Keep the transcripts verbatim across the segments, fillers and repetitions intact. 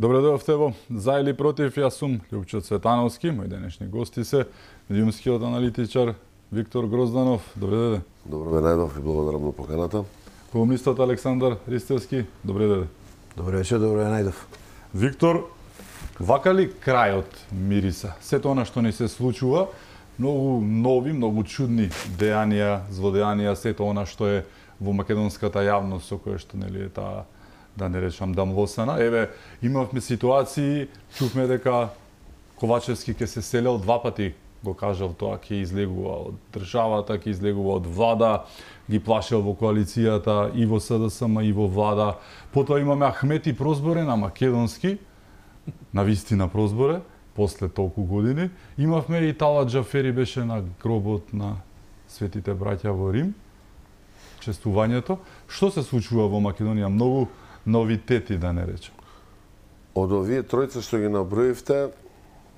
Добре дојавте во За или против, јас сум Љупчо Цветановски, мој денешни гости се медиумскиот аналитичар Виктор Грозданов. Добре дојде. Добро ве најдов и благодарам на поканата. Колумнистот Александар Ристевски. Добре дојде. Добре вечер, добро ве најдов. Виктор, вака ли крајот мириса? Сето она што ни се случува, многу нови, многу чудни дејанија, злодејанија, сето она што е во македонската јавност со кое што нели е таа, да не речам, дамвосана. Еве, имавме ситуации, чувме дека Ковачевски ќе се селел два пати, го кажал тоа, ќе излегува од државата, ќе излегува од влада, ги плашел во коалицијата и во СДСМ и во влада. Потоа имаме Ахмети Прозборе на македонски, на вистина Прозборе, после толку години. Имавме и Талат Џафери беше на гробот на светите браќа во Рим. Честувањето. Што се случува во Македонија? Многу новитети, да не речем. Од овие тројца што ги наброивте,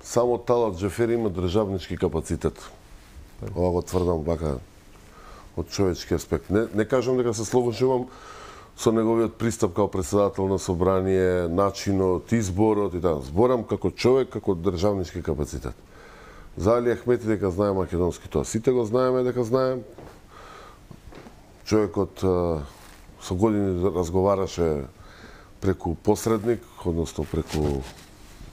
само Талат Џафери има државнички капацитет. Ова го тврдам вака од човечки аспект. Не, не кажам дека се слобожувам со неговиот пристап као председател на собрание, начинот, изборот и така. Зборам како човек, како државнички капацитет. За Али Ахмети дека знае македонски, тоа сите го знаеме дека знаем. Човекот со години разговараше преку посредник, односно преку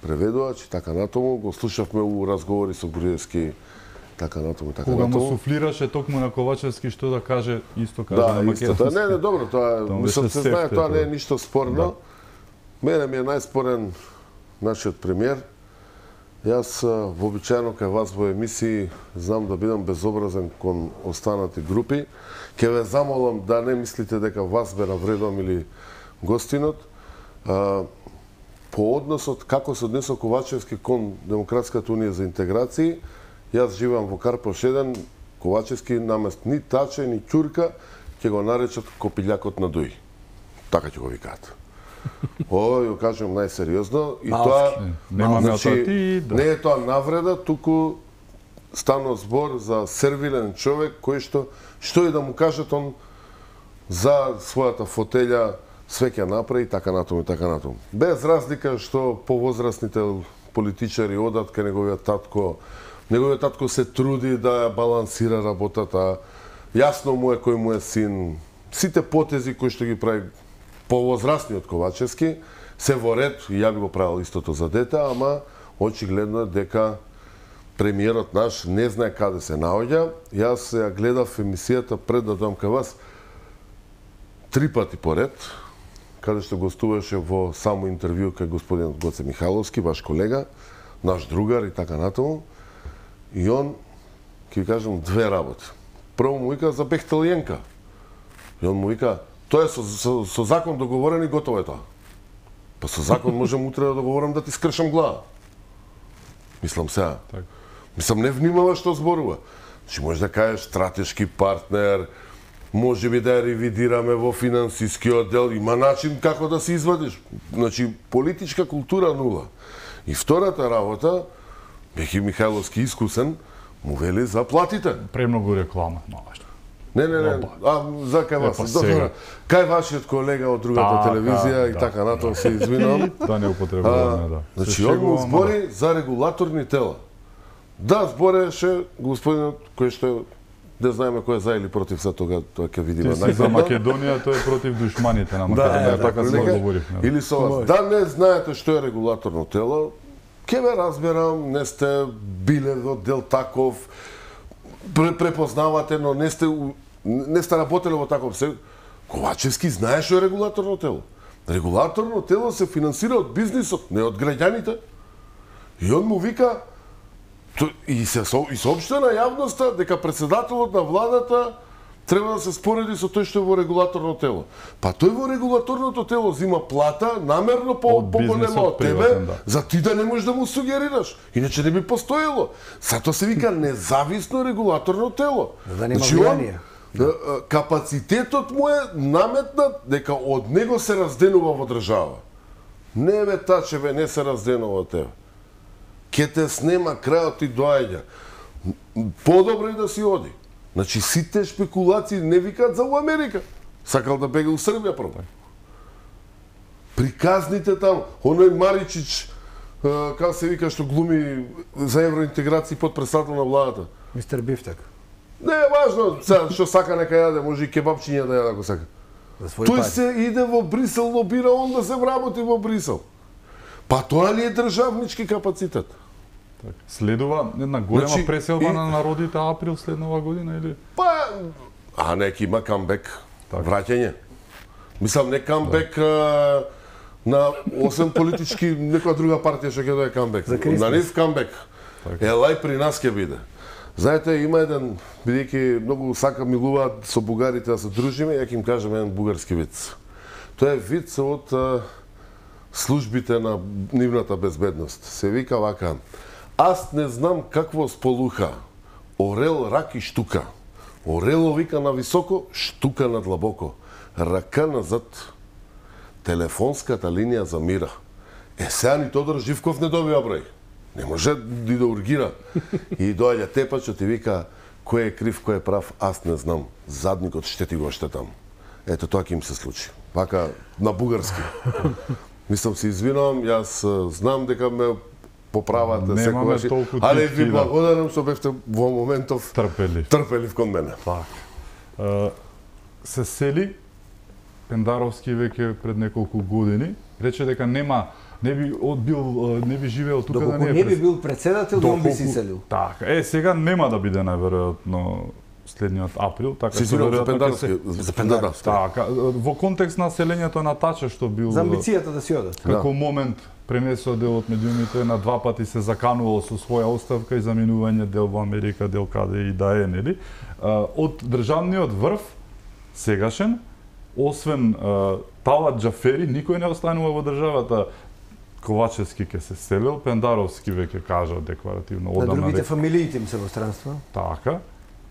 преведувач и така натаму. Го слушавме у разговори со Груевски, така натаму, така Кога натаму. му суфлираше токму на Ковачевски што да каже, исто каже да, на македонски. Да, не, не, добро, тоа, Тоа мислам, беше се знае, сефте, тоа не е тоа. ништо спорно. Да. Мене ми е најспорен нашиот премиер. Јас вообичаено кај вас во емисии знам да бидам безобразен кон останати групи. Ке ве замолам да не мислите дека вас бе навредувам или гостинот. А, по односот како се однесува Ковачевски кон Демократската унија за интеграции, јас живеам во Карпош еден, Ковачевски намест ни Таче, ни Ќурка, ќе го наречат Копилјакот на Дуј. Така ќе го викаат. Ова ја кажам најсериозно и Малски. тоа Немаме значи, атаки, да. не е тоа навреда, туку станува збор за сервилен човек кој што што и да му кажат он за својата фотелја све ќе направи така натаму и така натаму. Без разлика што повозрасните политичари одат кај неговиот татко, неговиот татко се труди да ја балансира работата. Јасно му е кој му е син. Сите потези кои што ги прави повозрасниот Ковачевски се во ред, и ја би го правил истото за дете, ама очигледно е дека премиерот наш не знае каде се наоѓа. Јас ја гледав емисијата пред да дојдам кај вас три пати поред, каде што гостуваше во само интервју кај господин Гоце Михайловски, ваш колега, наш другар и така натаму. И он, ќе ви кажам, две работи. Прво му вика за Бехтелиенка. И он му вика, тоа е со, со, со закон договорен и готово е тоа. Па со закон можем утре да договорам да ти скршам глава. Мислам сега. Так. Мислам, не внимава што зборува. Значи, може да кажеш стратешки партнер, може би да ја ревидираме во финансискиот дел, има начин како да се извадиш. Значи, политичка култура нула. И втората работа, Бехи Михайловски искусен, му вели за платите. Премногу реклама, малаш. Не, не, не, а за кај вас. Епа, сега. Кај вашиот колега од другата Така, телевизија и да. така натаму се извинувам. Да не употребуваме, да. Значи, Се он му шегувам, збори за регулаторни тела. Да, збореше господинот кој што не знаеме кој е за или против, за тога тоа ќе видиме Ти си за најдобро. Македонија, тој е против душманите на Македонија, Да, така се прилика. договоривме. да. Или со вас. Да не знаете што е регулаторно тело, ќе ве разберам, не сте биле во дел таков, препознавате, но не сте у- не сте работеле во таков се. Ковачевски знае што е регулаторно тело. Регулаторно тело се финансира од бизнисот, не од граѓаните. И он му вика то- и се со- и соопшти на јавноста дека председателот на владата треба да се спореди со тој што е во регулаторно тело. Па тој во регулаторното тело зима плата намерно по Од поголема бизнисот од тебе, приватен, да. за ти да не можеш да му сугерираш. Иначе не би постоело. Затоа се вика независно регулаторно тело. Да нема Значи, он, влијание. да, а, капацитетот му е наметнат дека од него се разденува во држава. Не бе Тачеве, не се разденува од тебе. Ке те снема крајот и доаѓа. Подобро е да си оди. Значи сите шпекулации не викаат за у Америка. Сакал да бега у Србија прво. приказните там, оној Маричич, како се вика што глуми за евроинтеграција подпредседател на владата. Мистер Бифтек. Не е важно, сега што сака нека јаде, може и кебапчиња да јаде ако сака. Тој се иде во Брисел, лобира он да се вработи во Брисел. Па тоа ли е државнички капацитет? Так. Следува една голема Значи, преселба и- на народите април следнава година или? Па, а нека има камбек, Така. враќање. Мислам, не камбек а, на осем политички, некоја друга партија што ќе дое камбек. За Кристос. На нив камбек. Така. Елај при нас ќе биде. Знаете, има еден, бидејќи многу сака милуваат со бугарите да се дружиме, ја ќе им кажам еден бугарски виц. Тоа е виц од а, службите на нивната безбедност. Се вика вака: аз не знам какво сполуха. Орел, рак и штука. Орело вика на високо, штука на длабоко. Рака назад. Телефонската линија за мира. Е, сега ни Тодор Живков не добива број. Не може да да ургира. И доаѓа тепачот и вика: кој е крив, кој е прав, аз не знам. Задникот ще ти го штетам. Ето тоа ќе им се случи. Вака на бугарски. Мислам се извинувам, јас а, знам дека ме поправате Немаме секогаш. толку Але тивки, ви да. благодарам што бевте во моментов Трпелив. трпелив кон мене. Так. Е, се сели Пендаровски веќе пред неколку години, рече дека нема не би одбил не би живеел тука да Доколку не не е би бил председател, он би си селил. Така, е сега нема да биде најверојатно следниот април, така Се извинувам за веројатно ќе Пендаровски. се- За Пендаровски. Така, во контекст на селењето на Тача што бил За амбицијата да си одат. како момент пренесува дел од медиумите, на два пати се заканувал со своја оставка и заменување дел во Америка, дел каде и да е, нели? А, од државниот врв сегашен, освен а, Талат Џафери, никој не останува во државата. Ковачевски ќе се селил, Пендаровски веќе кажа декларативно На одамна другите дека фамилиите им се во странство. така.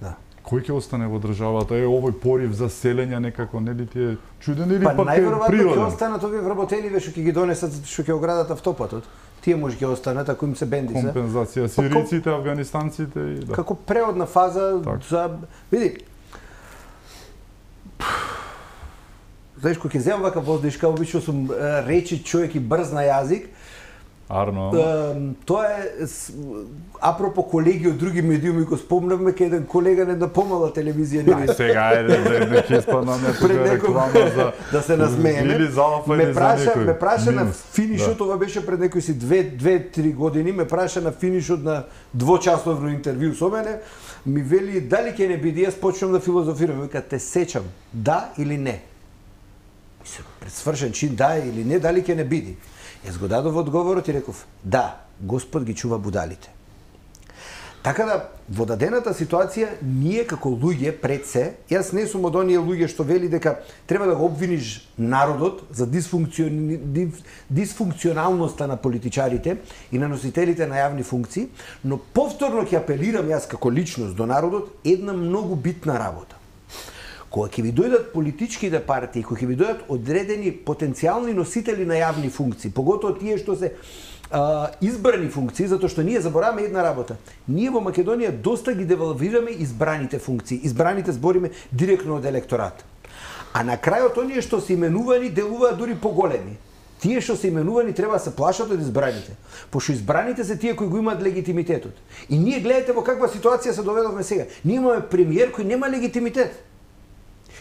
Да. Кој ќе остане во државата? Е, овој порив за селење некако, нели ти е чуден или Па пак е најверојатно ќе природен? останат овие вработеливе што ќе ги донесат, што ќе оградат автопатот. Тие може ќе останат ако им се бенди се. Компензација сириците, афганистанците и да. Како преодна фаза Так. за види. Знаеш, кога ќе земам вака воздишка, обично сум е, речи човек и брз на јазик. Арно. Е, тоа е с- апропо колеги од други медиуми, го спомнавме кај еден колега на една помала телевизија. Да, нели? сега е да да ќе испаднаме тука Пред некој реклама за да се насмееме. или за Алфа ме или за праша, некој. ме праша на Минус. финишот, ова беше пред некои си две, две, три години, ме праша на финишот на двочасовно интервју со мене, ми вели дали ќе не биде, јас почнам да филозофирам, вика те сечам, да или не. Мислам, пред свршен чин да или не, дали ќе не биде. Јас го дадов одговорот и реков, да, Господ ги чува будалите. Така да, во дадената ситуација, ние како луѓе пред се, јас не сум од оние луѓе што вели дека треба да го обвиниш народот за дисфункциони... дис- дисфункционалноста на политичарите и на носителите на јавни функции, но повторно ќе апелирам јас како личност до народот една многу битна работа. Кога ќе ви дојдат политичките партии, кога ќе ви дојдат одредени потенцијални носители на јавни функции, поготоа тие што се а, избрани функции, затоа што ние забораваме една работа. Ние во Македонија доста ги девалвираме избраните функции, избраните збориме директно од електорат. А на крајот оние што се именувани делуваат дури поголеми. Тие што се именувани треба да се плашат од избраните, пошто избраните се тие кои го имаат легитимитетот. И ние гледате во каква ситуација се доведовме сега. Ние имаме премиер кој нема легитимитет.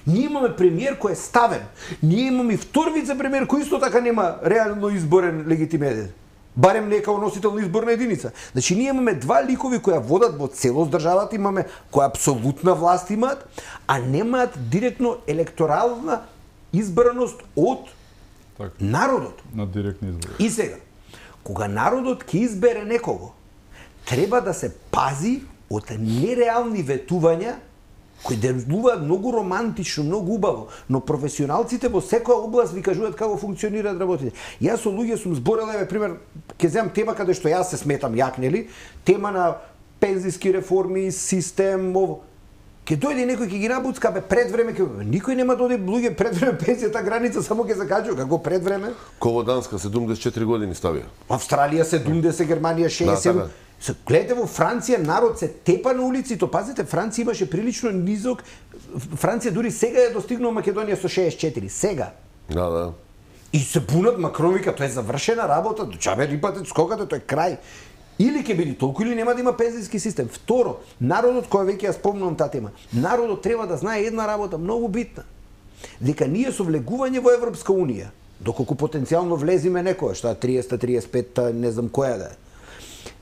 Ние имаме премиер кој е ставен. Ние имаме и втор вице-премиер кој исто така нема реално изборен легитимитет. Барем не како носител на изборна единица. Значи ние имаме два ликови кои ја водат во целост државата, имаме која апсолутна власт имаат, а немаат директно електорална избраност од Така, народот. на директни избори. И сега, кога народот ќе избере некого, треба да се пази од нереални ветувања кои делуваат многу романтично, многу убаво, но професионалците во секоја област ви кажуваат како функционираат работите. Јас со луѓе сум зборел, еве пример, ќе земам тема каде што јас се сметам јак, нели? Тема на пензиски реформи, систем, ово. Ке дојде некој ќе ги набуцка, бе пред време ќе никој нема да оди луѓе пред време пензијата граница само ќе закажува како пред време. Ководанска седумдесет и четири години ставија. Австралија седумдесет, Германија шеесет. Да, така. Се гледате во Франција народ се тепа на улиците. Пазите, Франција имаше прилично низок. Франција дури сега е достигнала Македонија со шеесет и четири. Сега. Да, да. И се бунат, Макрон вика, тоа е завршена работа, чабе рипате скокате, тоа е крај. Или ќе биде толку или нема да има пензијски систем. Второ, народот, кој веќе ја спомнувам таа тема, народот треба да знае една работа многу битна. Дека ние со влегување во Европска унија, доколку потенцијално влезиме некоја, што триесет триесет пет, не знам која да е.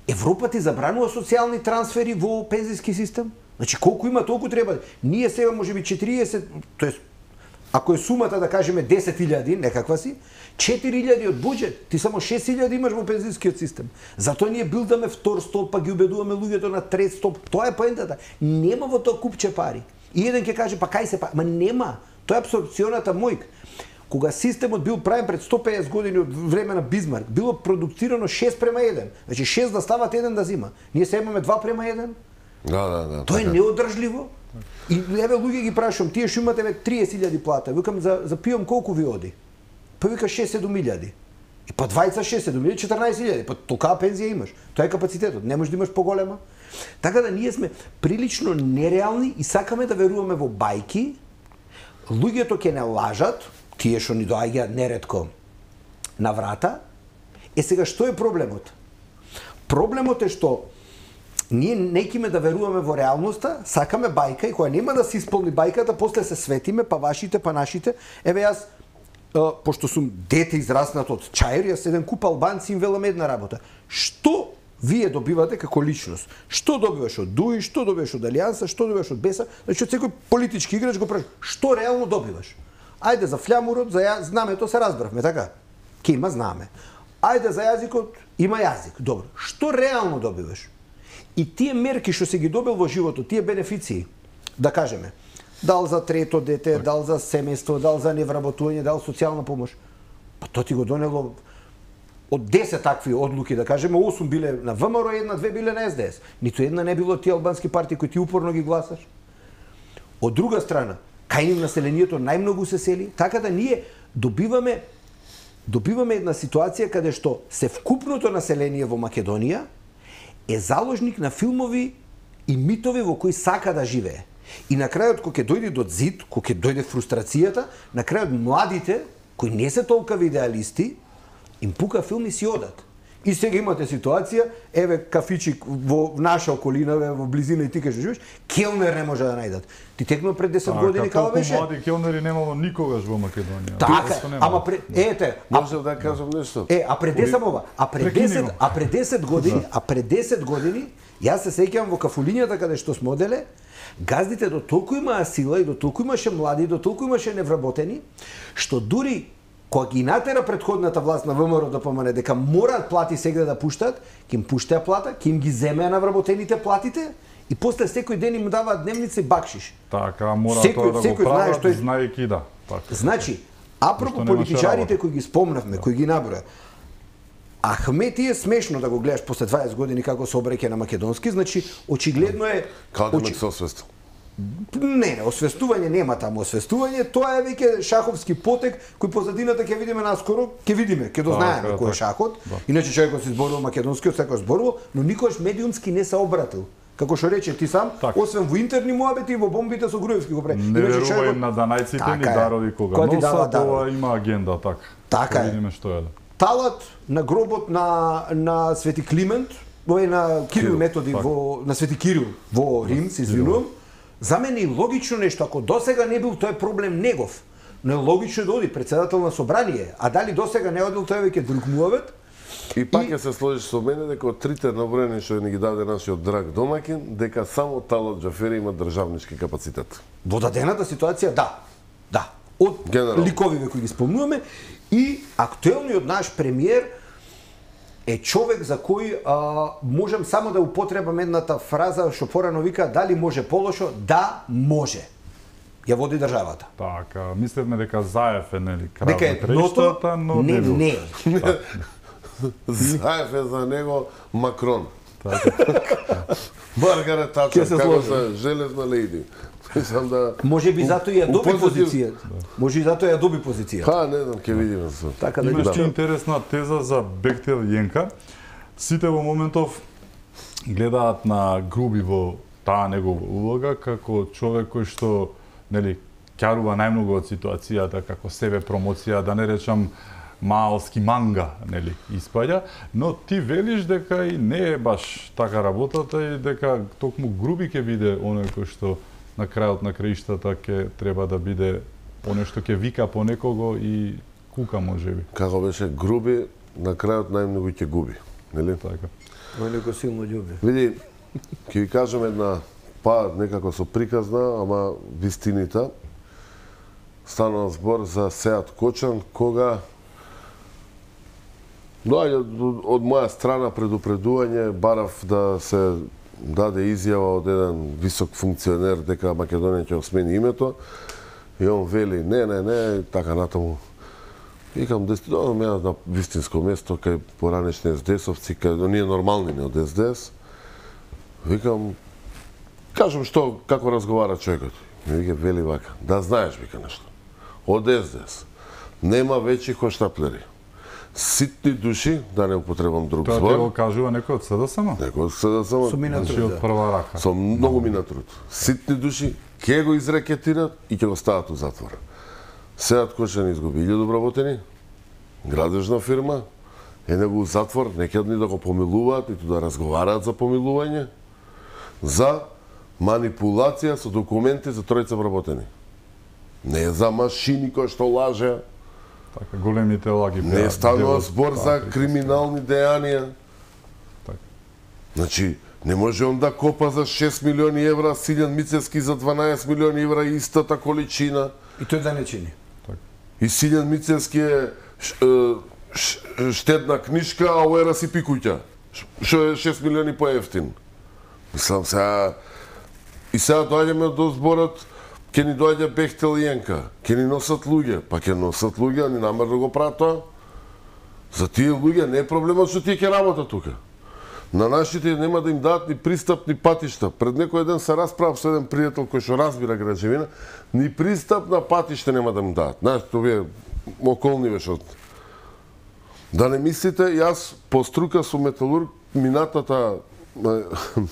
Европа ти забранува социјални трансфери во пензијски систем? Значи колку има, толку треба. Ние сега можеби четириесет, тоест ако е сумата да кажеме десет илјади, некаква си, четири илјади од буџет, ти само шест илјади имаш во пензискиот систем. Затоа ние билдаме втор столб, па ги убедуваме луѓето на трет столб. Тоа е поентата. Нема во тоа купче пари. И еден ќе каже, па кај се па, ма нема. Тоа е апсорбционата мојк. Кога системот бил правен пред сто песет години од време на Бизмарк, било продуцирано шест према еден. Значи шест да стават, еден да зима. Ние се имаме два према еден. Да, да, да. Тоа е неодржливо. И еве луѓе ги прашувам, тие што имате триесет илјади плата, викам за за пијам колку ви оди? Па вика шест седум илјади. И па двајца шест седум илјади, четрнаесет илјади, па толкава пензија имаш. Тоа е капацитетот, не можеш да имаш поголема. Така да ние сме прилично нереални и сакаме да веруваме во бајки. Луѓето ќе не лажат, тие што ни доаѓаат неретко на врата. Е сега што е проблемот? Проблемот е што ние некиме да веруваме во реалноста, сакаме бајка и која нема да се исполни бајката, после се светиме, па вашите, па нашите. Еве јас, е, пошто сум дете израснат од Чаир, јас еден куп албанци им велам една работа. Што вие добивате како личност? Што добиваш од Дуи, што добиваш од Алијанса, што добиваш од Беса? Значи од секој политички играч го праш. Што реално добиваш? Ајде за флямурот, за ја... знамето се разбравме, така? Ке има знаме. Ајде за јазикот, има јазик. Добро. Што реално добиваш? И тие мерки што се ги добил во животот, тие бенефиции, да кажеме, дал за трето дете, дал за семејство, дал за невработување, дал социјална помош, па тоа ти го донело од десет такви одлуки, да кажеме, осум биле на ВМРО, една, две биле на Ес Де Ес. Ниту една не било тие албански партии кои ти упорно ги гласаш. Од друга страна, кај нив населението најмногу се сели, така да ние добиваме добиваме една ситуација каде што севкупното население во Македонија е заложник на филмови и митови во кои сака да живее. И на крајот, кога ќе дојде до зид, кога ќе дојде фрустрацијата, на крајот младите, кои не се толкави идеалисти, им пука филм и си одат. И сега имате ситуација, еве кафичик во наша околина, во близина и ти кај што живееш, келнер не може да најдат. Ти текно пред десет а, години као беше? Толку млади келнери немало никогаш во Македонија. Така, ама пред ете, може да кажам нешто. Е, а пред десет ова, а пред десет, а пред десет години, а пред десет години, јас се сеќавам во кафулињата каде што сме оделе, газдите до толку имаа сила и до толку имаше млади, до толку имаше невработени, што дури кога ги натера предходната власт на ВМРО да помане дека мораат плати сега да пуштат, ќе им пуштеа плата, ќе им ги земеа на вработените платите и после секој ден им даваат дневница и бакшиш. Така, мора тоа да го прават, што... знаејќи да. Така. Значи, апропо политичарите кои ги спомнавме, кои ги наброја, Ахмети е смешно да го гледаш после дваесет години како се обреќе на македонски, значи очигледно е... Како да се освестил? Не, не, освестување нема таму освестување, тоа е веќе шаховски потек кој позадината ќе видиме наскоро, ќе видиме, ќе дознаеме кој е шахот. Да. Иначе човекот се зборува македонски, секој зборува, но никогаш медиумски не се обратил. Како што рече ти сам, так. Освен во интерни муабети и во бомбите со Груевски го прави. Не верувај на данајците ни дарови кога носат, тоа има агенда, така. Така е. Видиме што е. Талат на гробот на на Свети Климент, во на Кирил Методи во на Свети Кирил во Рим, се извинувам. За мене е логично нешто, ако досега не бил тој проблем негов, но е логично да оди председател на собрание, а дали досега не одил тој веќе друг муавет? И пак ќе се сложиш со мене дека од трите наброени што ни ги даде нашиот драг домаќин, дека само Талат Џафери има државнички капацитет. Во дадената ситуација, да. Да. Од Генерал. Ликовиве кои ги спомнуваме и актуелниот наш премиер е човек за кој а, можем само да употребам едната фраза што порано вика дали може полошо, да може. Ја води државата. Така, мислевме дека Заев е нели крав дека е ното, но не, не. не. Заев е за него Макрон. Маргарет Тачер, како се железна лејди. Мислам да може би затоа ја доби позиција. Може и затоа ја доби позиција. Ха, не знам, ќе видиме се. Така да имаше интересна теза за Бехтел Јенка. Сите во моментов гледаат на Груби во таа негова улога како човек кој што нели ќарува најмногу од ситуацијата како себе промоција, да не речам маалски манга, нели, испаѓа, но ти велиш дека и не е баш така работата и дека токму груби ќе биде оној кој што на крајот на краиштата ќе треба да биде оној што ќе вика по некого и кука можеби. Како беше груби, на крајот најмногу ќе губи, нели? Така. Оној кој силно љуби. Види, ќе ви кажам една, па некако со приказна, ама вистинита. Станува збор за Сеат Кочан, кога доаѓа од моја страна предупредување, барав да се даде изјава од еден висок функционер дека Македонија ќе осмени името, и он вели не, не, не, така натаму. Викам, додам ја на вистинско место кај поранешни ес-де-есовци, кај ние нормални не од ес-де-ес. Викам, кажам што, како разговара човекот. Ми вика, вели вака, да знаеш, вика нешто. Од ес-де-ес нема вечи хоштаплери. Ситни души, да не употребам друг Тоа збор. ќе го кажува некој од СДСМ? Некој од СДСМ. Со мина Значи труд, од прва рака. Со многу мина труд. Ситни души ќе го изрекетират и ќе го стават у затвор. Сеат Кочан изгуби илјаду вработени, градежна фирма, е него у затвор, не ќе ни да го помилуваат, ниту да разговараат за помилување, за манипулација со документи за тројца вработени. Не е за машини кои што лажеа, Така, големите лаги. не станува збор за криминални дејанија. Така. Значи, не може он да копа за шест милиони евра, Силјан Мицевски за дванаесет милиони евра истата количина. И тој да не чини. И Силјан Мицевски е ш, ш, штедна книшка, а Уера си пикуќа. Што е шест милиони поевтин. Мислам сега... И сега доаѓаме до зборот, ќе ни доаѓа Бехтел и Јенка, ќе ни носат луѓе, па ќе носат луѓе, а ни намер да го прават тоа. За тие луѓе не е проблемот што тие ќе работат тука. На нашите нема да им дадат ни пристап, ни патишта. Пред некој ден се расправав со еден пријател кој што разбира граđевина, ни пристап на патиште нема да им дадат. Знаеш, овие околни вешот. Да не мислите, јас по струка сум металург, минатата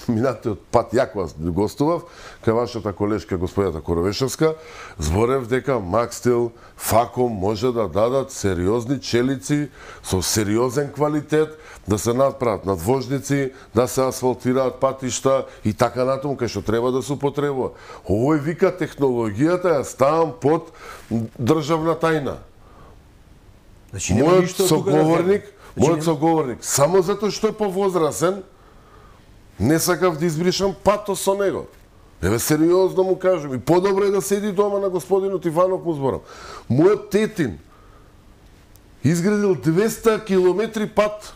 минатиот пат јаква гостував кај вашата колешка господјата Коровешевска, зборев дека Макстил, Факом може да дадат сериозни челици со сериозен квалитет, да се надправат надвожници, да се асфалтираат патишта и така натаму кај што треба да се употребува. Овој вика технологијата ја ставам под државна тајна. Значи нема Мојот ништо тука да соговорник, земе. Значи, мојот соговорник, само затоа што е повозрасен, не сакав да избришам патос со него. Еве сериозно му кажам, и подобро е да седи дома на господинот Иванов му зборам. Мојот тетин изградил двеста километри пат.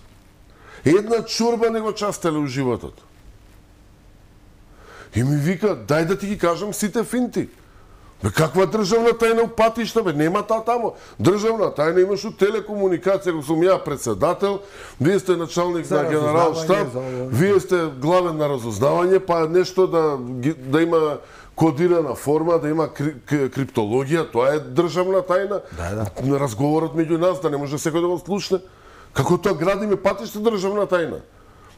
Една чорба не го частеле у животот. И ми вика, дај да ти ги кажам сите финти. Бе, каква државна тајна у патишта, бе, нема та тамо. Државна тајна имаш у телекомуникација, ако сум ја председател, вие сте началник За на генерал штаб, разузнавање, за- вие сте главен на разузнавање, па нешто да, ги- да има кодирана форма, да има кри, к- криптологија, тоа е државна тајна. Да, да. Разговорот меѓу нас, да не може секој да го слушне. Како тоа градиме патишта државна тајна?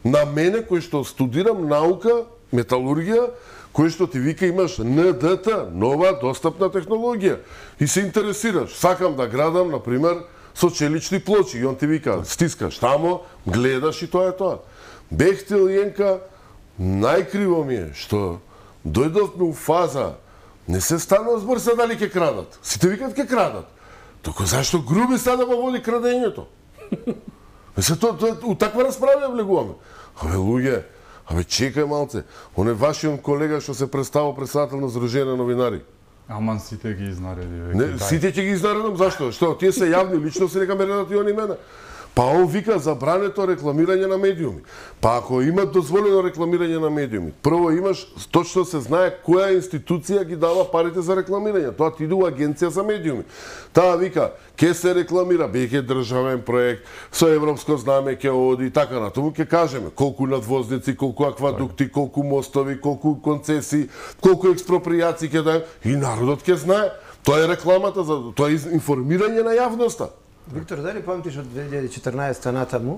На мене, кој што студирам наука, металургија, кој што ти вика имаш Н Д Т, нова достапна технологија, и се интересираш. Сакам да градам, например, со челични плочи, и он ти вика, стискаш тамо, гледаш и тоа е тоа. Бехтел Јенка, најкриво ми е што дојдовме у фаза, не се станува збор за дали ќе крадат. Сите викат ќе крадат. Току зашто груби сада го води крадењето? Се тоа, тоа, у таква расправа влегуваме. Абе, луѓе, абе, чекај малце. Он е вашиот колега што се представил председател на Сдружение на новинари. Аман сите ги изнареди веќе. Не, дај. сите ќе ги изнаредам, зашто? Што, тие се јавни личности, нека ме редат и они мене. Па он вика забрането рекламирање на медиуми. Па ако има дозволено рекламирање на медиуми, прво имаш, точно се знае која институција ги дава парите за рекламирање. Тоа ти иде у агенција за медиуми. Таа вика, ке се рекламира, беќе државен проект, со европско знаме ќе оди и така натаму, ќе кажеме колку надвозници, колку аквадукти, колку мостови, колку концесии, колку експропријации ќе дајме и народот ќе знае. Тоа е рекламата, за тоа е информирање на јавноста. Виктор, дали памтиш од две илјади и четрнаесетта натаму,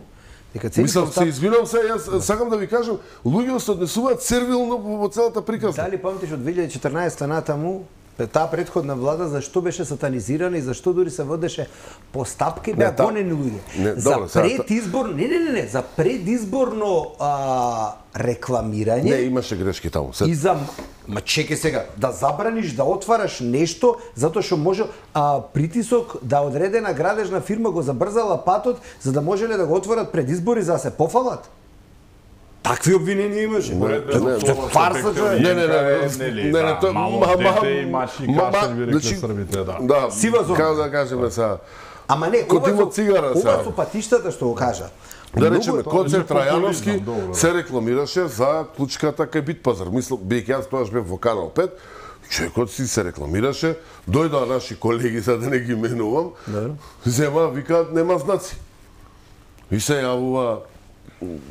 дека цели Мислам, постав... се извинувам се, јас сакам да ви кажам, луѓето се однесуваат сервилно во целата приказна. Дали памтиш од две илјади и четрнаесетта натаму, таа претходна влада зашто беше сатанизирана и зашто дури се водеше постапки Не, беа та- гонени луѓе. Не, За добро, сега- предизбор, не, не, не, не, за предизборно а, рекламирање Не, имаше грешки таму. Се... и за ма чекај сега, да забраниш да отвараш нешто затоа што може а, притисок да одредена градежна фирма го забрзала патот за да можеле да го отворат пред избори за да се пофалат. Такви обвиненија имаше. Не, не, Тоа е фарса, човек. Не, не, не, нели, не, не, да, тоа- мало ма- ма- дете и мачи ма- кашель, ма- би рекли значи, србите, да. Да, Сива зона. како да кажеме сега, Ама не, Кога ова има со- цигара ова сега. со патиштата што го кажа. да речеме, Многу- Коцер е популизам, Трајановски добро. се рекламираше за клучката кај Битпазар. Мислам, бидејќи јас тогаш бев во Канал пет, човекот си се рекламираше, дојдоа наши колеги, за да не ги менувам, зема, вика, нема знаци. И се јавува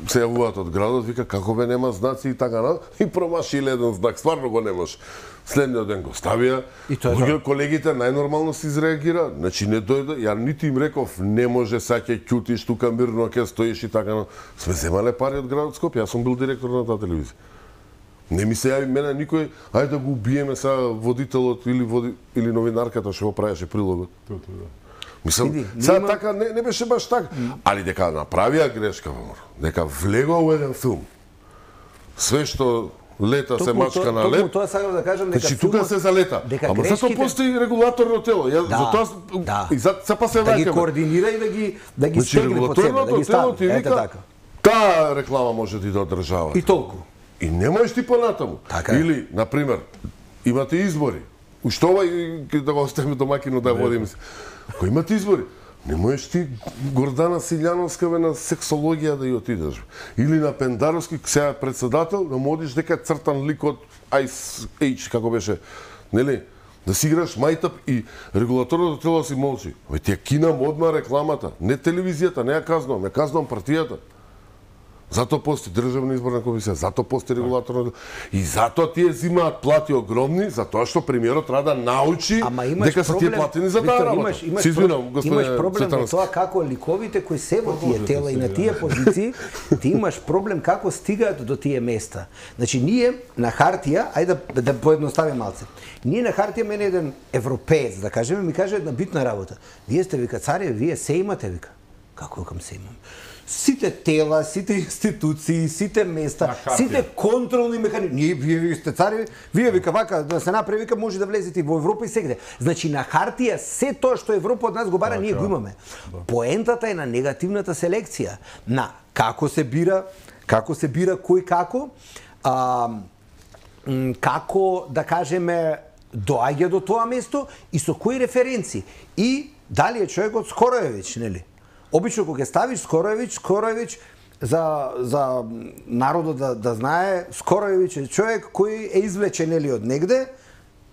се јавуваат од градот, вика како бе нема знаци и така на и промаши еден знак, стварно го немаш. Следниот ден го ставија. И тоа е Луѓе, колегите најнормално се изреагира. Значи не дојде, ја нити им реков не може са ќе ќутиш тука мирно ќе стоиш и така на. Сме земале пари од градот Скопје, јас сум бил директор на таа телевизија. Не ми се јави мене никој, ајде да го убиеме са водителот или води, или новинарката што го правеше прилогот. Тоа, тоа, да. Мислам, Види, сега нема- така не, не беше баш така, али дека направија грешка, мор, дека влегоа во еден филм. Све што лета се Токму мачка тоа- на токму леп. Тоа сакам да кажам дека Значи тука филмот- се за лета. дека Ама зато грешките- постои регулаторно тело. Ја Да, затоа да. и за се па се да ги враќаме. координира и да ги да ги Значи стегне под себе, да регулаторното ги тело стави. ти Ете вика така. таа реклама може да иде од државата. И толку. И не можеш ти понатаму. Така е. Или, на пример, имате избори. Уште ова и да го оставиме домакино да водиме се. Кој имате избори, не можеш ти Гордана Силјановска бе на сексологија да ја отидеш. Или на Пендаровски, сега председател, да му одиш дека е цртан лик од Ice Age, како беше, нели? Да си играш мајтап и регулаторното тело си молчи. Ве ти ја кинам одма рекламата, не телевизијата, не ја казнувам, ја казнувам партијата. Зато постои државна изборна комисија, зато постои регулаторно и зато тие зимаат плати огромни, затоа што премиерот треба да научи Ама имаш дека се тие проблем, платени за Виктор, таа работа. Имаш, имаш, Се извинувам, имаш господине проблем во Цветановски. тоа како ликовите кои се во тие тела и на тие позиции, ти имаш проблем како стигаат до тие места. Значи ние на хартија, ајде да, да поедноставим малце. Ние на хартија мене еден европеец, да кажеме, ми каже една битна работа. Вие сте вика царе, вие се имате вика. Како викам се имам? Сите тела, сите институции, сите места, На хартија. сите контролни механизми. Ние вие, вие сте цари, вие вика вака да се направи вика може да влезете и во Европа и сегде. Значи на хартија се тоа што Европа од нас го бара, ние го имаме. Поентата е на негативната селекција, на како се бира, како се бира кој како, а, м, како да кажеме доаѓа до тоа место и со кои референци. И дали е човекот Скороевиќ, нели? Обично кога ќе ставиш Скороевиќ, Скороевиќ за за народот да да знае, Скороевиќ е човек кој е извлечен нели од негде,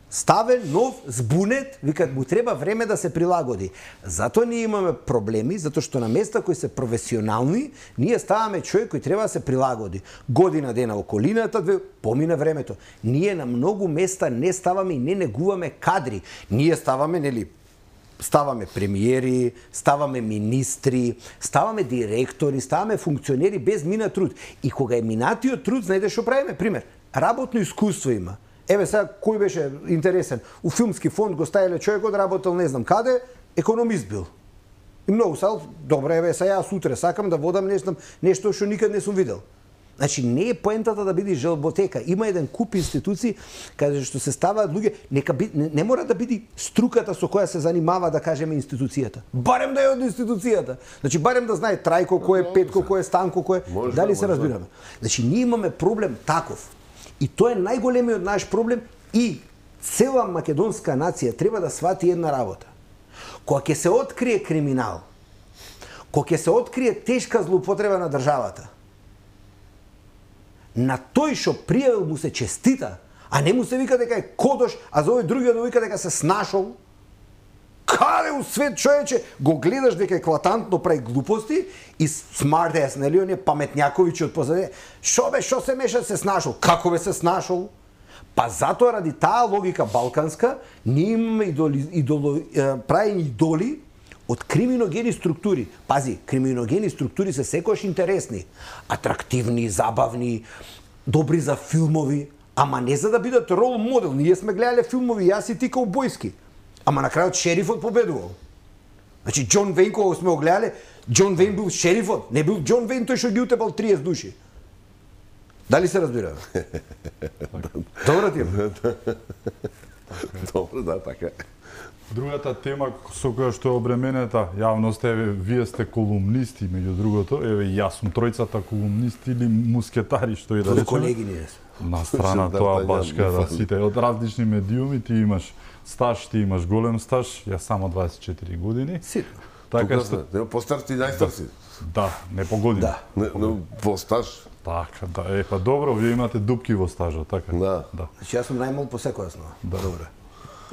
ставен, нов, збунет, викат му треба време да се прилагоди. Затоа ние имаме проблеми, затоа што на места кои се професионални, ние ставаме човек кој треба да се прилагоди. Година дена околината, две, помина времето. Ние на многу места не ставаме и не негуваме кадри. Ние ставаме, нели, ставаме премиери, ставаме министри, ставаме директори, ставаме функционери без минат труд. И кога е минатиот труд, знаете што правиме? Пример, работно искуство има. Еве сега кој беше интересен? У филмски фонд го ставиле човекот, работел не знам каде, економист бил. И многу сал, добре, еве сега јас утре сакам да водам не знам нешто што никад не сум видел. Значи не е поентата да биде желботека. Има еден куп институции каде што се ставаат луѓе, нека би, не, не мора да биде струката со која се занимава да кажеме институцијата. Барем да е од институцијата. Значи барем да знае Трајко кој е, Петко кој е, Станко кој е. Може, Дали се може. разбираме? Значи ние имаме проблем таков. И тоа е најголемиот наш проблем и цела македонска нација треба да свати една работа. Кога ќе се открие криминал, кога ќе се открие тешка злоупотреба на државата, на тој што пријавил му се честита, а не му се вика дека е кодош, а за овој другиот му вика дека се снашол. Каде у свет човече го гледаш дека еклатантно прави глупости и smart ass, нели, оние паметњаковичи од позади. Шо бе, шо се меша се снашол? Како бе се снашол? Па затоа ради таа логика балканска, ние имаме идоли, идоли, е, правени идоли од криминогени структури. Пази, криминогени структури се секојаш интересни, атрактивни, забавни, добри за филмови, Ама не за да бидат рол модел. Ние сме гледале филмови, јас и ти каубојски. Ама на крајот шерифот победувал. Значи Џон Вејн кога сме го гледале, Џон Вејн бил шерифот, не бил Џон Вејн тој што ги утепал триесет души. Дали се разбира? Добро ти е. Добро, да, така е. Другата тема со која што е обременета јавноста, еве, вие сте колумнисти, меѓу другото, еве, јас сум тројцата колумнисти или мускетари, што и да речеме. Колеги ние сме. На страна тоа баш када сите од различни медиуми, ти имаш стаж, ти имаш голем стаж, јас само дваесет и четири години. Ситно. Така што не постар ти најстар си. Да, не по години. Да. Не, не по стаж. Така, да, е, па добро, вие имате дупки во стажот, така. Да. Да. Значи јас сум најмал по секоја основа. Да. Добре.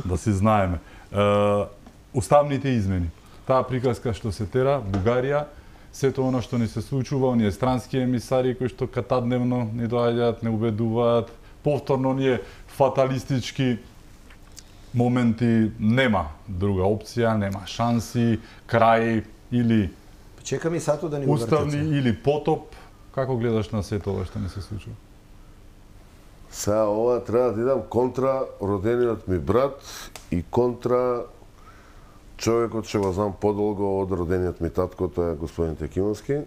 Да си знаеме. Е, уставните измени. Таа приказка што се тера, Бугарија, сето оно што ни се случува, оние странски емисари кои што катадневно ни доаѓаат, не убедуваат, повторно ние фаталистички моменти, нема друга опција, нема шанси, крај или Чекам и сато да ни го уставни вртице. или потоп. Како гледаш на сето ова што ни се случува? Сега ова треба да идам контра родениот ми брат и контра човекот што го знам подолго од родениот ми татко, тоа е господин Текимовски.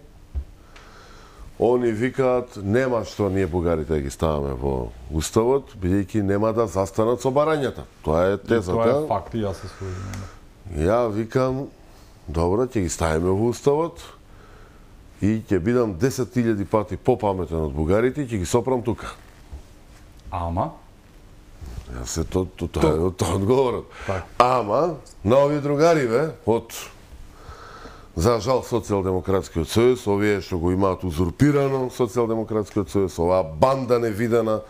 Они викаат нема што ние бугарите да ги ставаме во уставот, бидејќи нема да застанат со барањата. Тоа е тезата. Тоа е факт и јас се служам. Ја викам, добро, ќе ги ставиме во уставот и ќе бидам десет илјади пати попаметен од бугарите и ќе ги сопрам тука. Ама Јас се то то тоа е тоа одговорот. Так. Ама на овие другариве од за жал Социјалдемократскиот сојуз, овие што го имаат узурпирано Социјалдемократскиот сојуз, оваа банда невидена,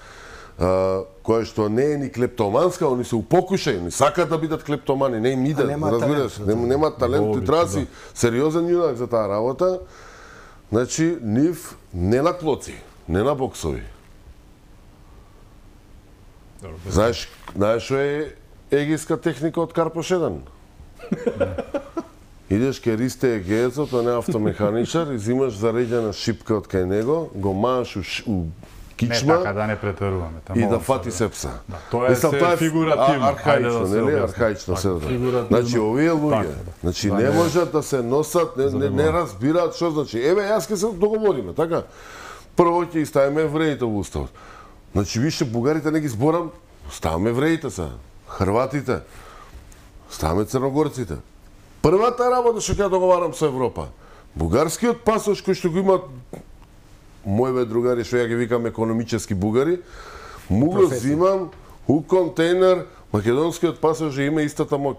а, која што не е ни клептоманска, они се упокушај, они сакаат да бидат клептомани, не им иде, немаат разбираш, талент, нема немаат талент, Логично, ти треба да да. си сериозен јунак за таа работа. Значи, нив не на клоци, не на боксови. Знаеш, знаеш што е егиска техника од Карпош еден? Идеш кај Ристе Егеецот, тоа не е автомеханичар, и зимаш зареđена шипка од кај него, го мааш у, ш- у не кичма така да не претеруваме. и да фати сепса. Да, тоа е Мислам, се фигуративно. а- Архаично, Ајде да се нели? објасни. Архаично Така, се да. фигуративно. Значи, овие луѓе, Така, да. значи Да не не- можат да се носат, не, не, не разбираат што значи. Еве, јас ке се договориме, така? Прво ќе ги ставиме евреите во уставот. Значи, више, бугарите не ги зборам, ставаме евреите са, хрватите, ставаме црногорците. Првата работа што ќе ја договарам со Европа, бугарскиот пасош кој што го имаат мојве другари, што ја ги викам економически бугари, му го Професија. зимам у контейнер, македонскиот пасош ја има истата моќ.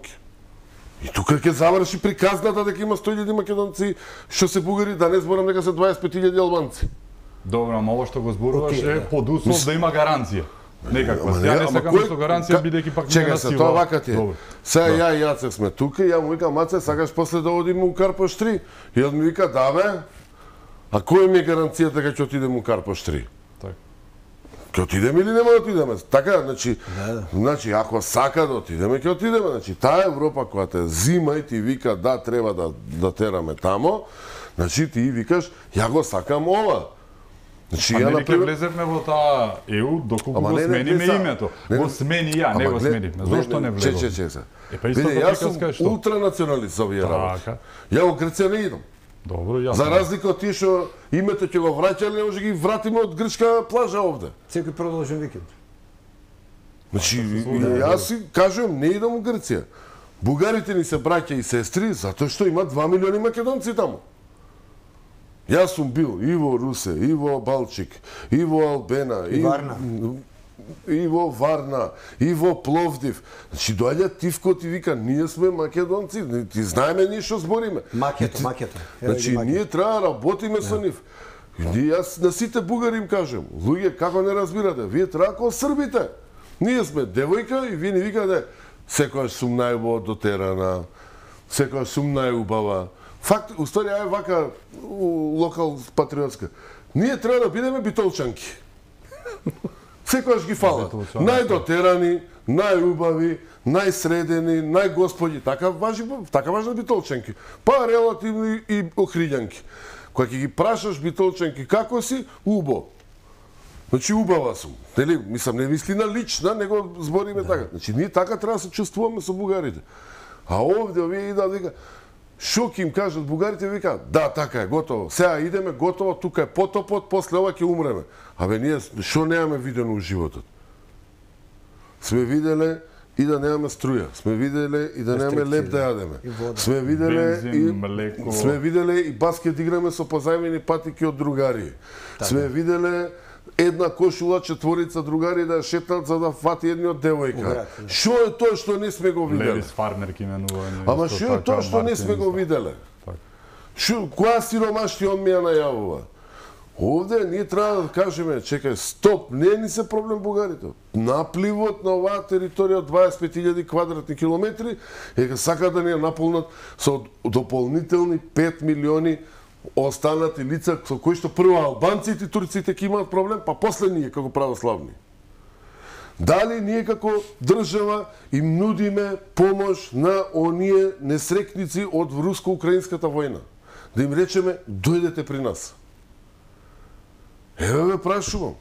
И тука ќе заврши приказната дека има сто илјади македонци што се бугари, да не зборам дека се дваесет и пет илјади албанци. Добро, ама ова што го зборуваш Окей, е да. под услов да има гаранција. Некаква. Ама Ја не ама сакам кој- со гаранција, ка- бидејќи пак не Чекај на се, сила. тоа вака ти е. Добро. Сега ја и Јаце сме тука, ја му викам, Маце, сакаш после да одиме у Карпош три? И он ми вика, да бе, а која ми е гаранцијата дека ќе отидеме у Карпош три? Така. Ќе отидеме или нема да отидеме? Така, значи, Да, да. значи ако сака да отидеме, ќе отидеме. Значи, таа Европа која те зима и ти вика да треба да да тераме тамо, значи ти викаш ја го сакам ова. Значи А ја нели на ќе влезевме во таа е у доколку Ама го не, не, смениме не, са- името. не, Го не. смени ја, не Ама го глед- смениме. Зошто не Че, че, влезовме? че, се. Е, па истата Види, јас сум приказка е што? ултранационалист за овие работи. Така. Ја во Грција не идам. Добро, јасно. За разлика од тие што името ќе го враќале, не може да ги вратиме од грчка плажа овде. Секој продолжен викенд. Значи, служи, јас си кажувам, не идам у Грција. Бугарите ни се браќа и сестри, затоа што има два милиони македонци таму. Јас сум бил и во Русе, и во Балчик, и во Албена, И Варна. и во Варна, и во Пловдив. Значи, доаѓа Тивко и вика, ние сме македонци, ти знаеме ние што збориме. Макето, И ти- макето. Еве Значи, ги макето. ние треба да работиме со нив. И ние, јас на сите бугари им кажам, луѓе, како не разбирате, вие треба како србите. Ние сме девојка и вие ни викате, секојаш сум најубаво дотерана, секојаш сум најубава. Факт, уствари, ај вака у локал патриотска. Ние треба да бидеме битолчанки. Секојаш ги фалат. Битолчанки. Најдотерани, најубави, најсредени, најгосподи. Така важи, така важат битолчанки. Па релативни и охриѓанки. Кога ќе ги прашаш битолчанки како си, убо. Значи убава сум. Нели, мислам не вистина лична, него збориме да. Така. Значи ние така треба да се чувствуваме со бугарите. А овде овие идат вика шо ќе им кажат бугарите, вика да, така е, готово. Сега идеме, готово, тука е потопот, после ова ќе умреме. Абе ние шо немаме видено во животот? Сме виделе и да немаме струја. Сме виделе и да немаме леп да јадеме. Сме виделе Бензин, и млеко. сме виделе и баскет играме со позајмени патики од другари. Така. Сме виделе една кошула четворица другари да шетат за да фати едниот девојка. Што е тоа што не сме го виделе? Левис фармерки именувани. Ама што е тоа што не сме го виделе? Шо, која сиромаштија он ми ја најавува? Овде ние треба да кажеме, чекај, стоп, не е ни се проблем бугарите. Напливот на оваа територија од дваесет и пет илјади квадратни километри е сака да ни ја наполнат со дополнителни пет милиони останати лица со кои што прво албанците и турците ќе имаат проблем, па после ние како православни. Дали ние како држава им нудиме помош на оние несрекници од руско-украинската војна? Да им речеме, дојдете при нас. Еве ме прашувам.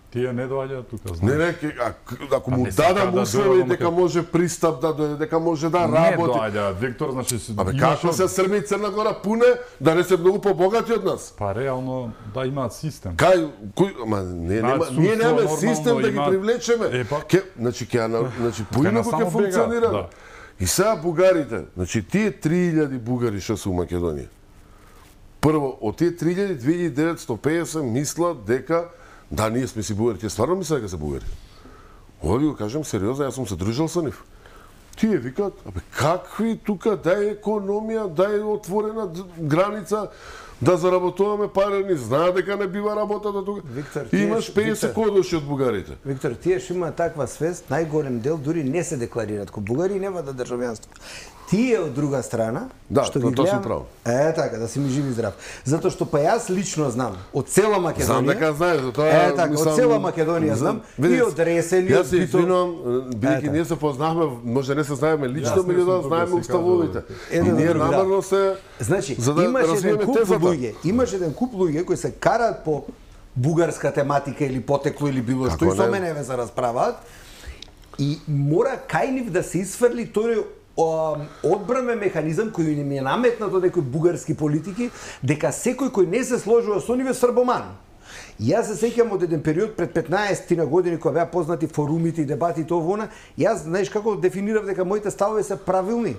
Тие не доаѓаат тука, Не, знаеш. не, ке- а, ако му не сака дадам да услови дојдат, дека ама може пристап да дојде, дека може да Не работи. доаѓаат, Виктор, значи си- Абе имаш како од- се Србија и Црна Гора пуне да не се многу побогати од нас? Па реално да имаат систем. Кај кој ама не Знаат нема судство, ние немаме нормално систем да ги имаат- привлечеме. Е, па. Ке, значи ќе ана- значи Ке поинаку насамо ќе функционира. бегаат, И сега бугарите, значи тие три илјади бугари што се у Македонија. Прво, од тие три илјади две илјади деветстотини и петдесет мислат дека да, ние сме си бугари, тие стварно мислат дека се бугари. Ова ви го кажам сериозно, јас сум се дружел со нив. Тие викаат, абе какви тука дај економија, дај отворена д- граница, да заработуваме пари, ни знаат дека не бива работата тука. Виктор, И тие имаш ш- петдесет Виктор. кодоши од бугарите. Виктор, тие што имаат таква свест, најголем дел дури не се декларираат ко бугари и нема да државјанство. Тие од друга страна, Да, што на ги тоа си гледам, право. е така, да си ми жив и здрав. Затоа што па јас лично знам од цела Македонија. Знам дека знаеш, за тоа Е така, мислам- од цела Македонија за- знам и видите, од Ресен и Јас од се Битол. извинувам, Е, бидејќи така. ние се познавме, може не се знаеме лично, Јас не меѓутоа сум тука знаеме си уставовите. кажувам. И Еден ние друг, да. намерно се Значи, за да имаш еден развиеме куп тезата. луѓе, имаш еден куп луѓе кои се караат по бугарска тематика или потекло или било што Како и со не? мене ве се расправаат и мора кај нив да се исфрли тој о, одбранен механизам кој им е наметнат од некои бугарски политики дека секој кој не се сложува со нив е србоман. Јас се сеќам од еден период пред петнаесет на години кога беа познати форумите и дебатите овона, јас знаеш како дефинирав дека моите ставови се правилни.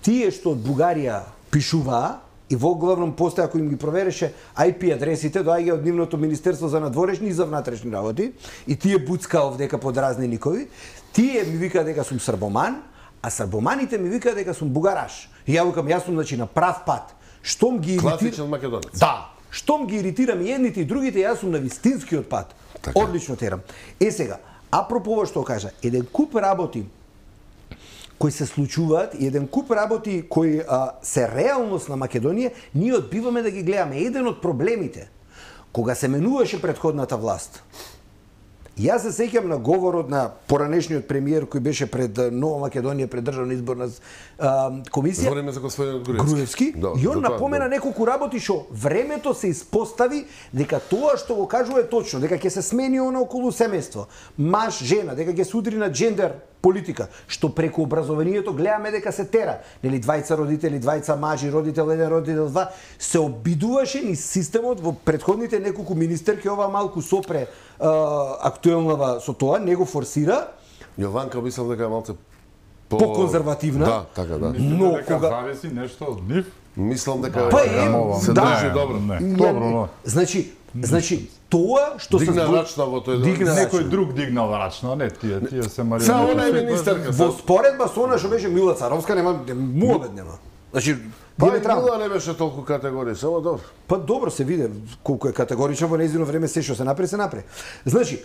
Тие што од Бугарија пишуваа и во главном постоја ако им ги провереше ај пи адресите, доаѓа од нивното Министерство за надворешни и за внатрешни работи и тие буцкаа овдека под разни никови, тие ми викаат дека сум србоман, а србоманите ми викаат дека сум бугараш. И ја викам, јас сум значи на прав пат. Штом ги иритира... Класичен македонец. Да. Штом ги иритирам и едните и другите, јас сум на вистинскиот пат. Така. Одлично терам. Е сега, апропо ова што кажа, еден куп работи кои се случуваат и еден куп работи кои а, се реалност на Македонија, ние одбиваме да ги гледаме. Еден од проблемите, кога се менуваше предходната власт, јас се сеќам на говорот на поранешниот премиер кој беше пред а, Нова Македонија, пред државна изборна а, комисија, Збориме за господинот Груевски. Груевски, Да, и он за тоа, напомена да. неколку работи што времето се испостави дека тоа што го кажува е точно, дека ќе се смени она околу семејство, маж, жена, дека ќе се удри на джендер политика, што преку образованието гледаме дека се тера, нели двајца родители, двајца мажи, родител еден, родител два, се обидуваше ни системот во претходните неколку министерки, ова малку сопре а, актуелнава со тоа, не го форсира, Јованка мислам дека е малце по... По-конзервативна. Да, така да. Но дека кога- зависи нешто од нив. Мислам дека Па е, се да. држи добро. Не, Ја- добро, но Значи, значи тоа што се Дигна збор- рачна во тој Дигна ден. некој друг дигнал рачно, не тие, тие се марионети. Са она е министерка. во са- споредба со она што беше Мила Царовска нема муабет нема. Значи, Па ние и треба. Мила не беше толку категорија, само добро. Па добро се виде колку е категорично во нејзино време се што се направи се направи. Значи,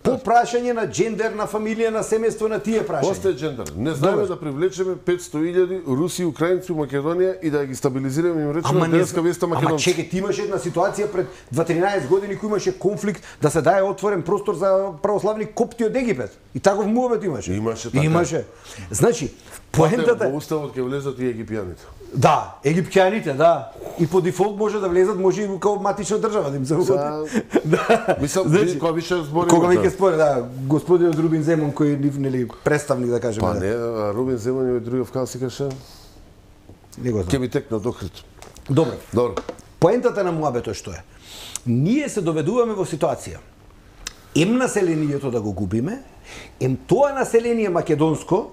по прашање на джендер, на фамилија, на семејство, на тие прашања. Посте джендер. Не знаеме Добро. да привлечеме петсто илјади руси и украинци у Македонија и да ги стабилизираме им речеме Ама не денеска веста Ама македонци. чеке, ти имаше една ситуација пред дваесет години кој имаше конфликт да се даде отворен простор за православни копти од Египет. И таков муабет имаше. Имаше, така. Имаше. Значи, Поентата... поентата Во уставот ќе влезат и египјаните. Да, египтјаните, да. И по дефолт може да влезат, може и као матична држава да им се угоди. Да. Мислам, значи, кога више збори. Кога веќе спори, да, господинот Рубин Земон кој е нели представник да кажеме. Па не, Рубин Земон и другиот као си каше. Не го знам. Ќе ми текна дохрит. Добро. Добро. Поентата на муабето што е? Ние се доведуваме во ситуација. Ем населението да го губиме, ем тоа население македонско,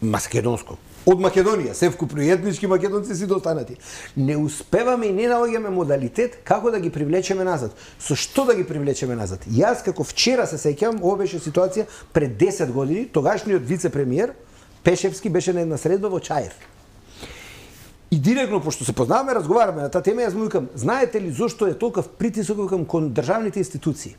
македонско, од Македонија, се вкупно и етнички македонци си достанати. Не успеваме и не наоѓаме модалитет како да ги привлечеме назад. Со што да ги привлечеме назад? Јас како вчера се сеќавам, ова беше ситуација пред десет години, тогашниот вице-премиер Пешевски беше на една средба во Чаир. И директно, пошто се познаваме, разговараме на таа тема, јас му викам, знаете ли зошто е толков притисок викам кон државните институции?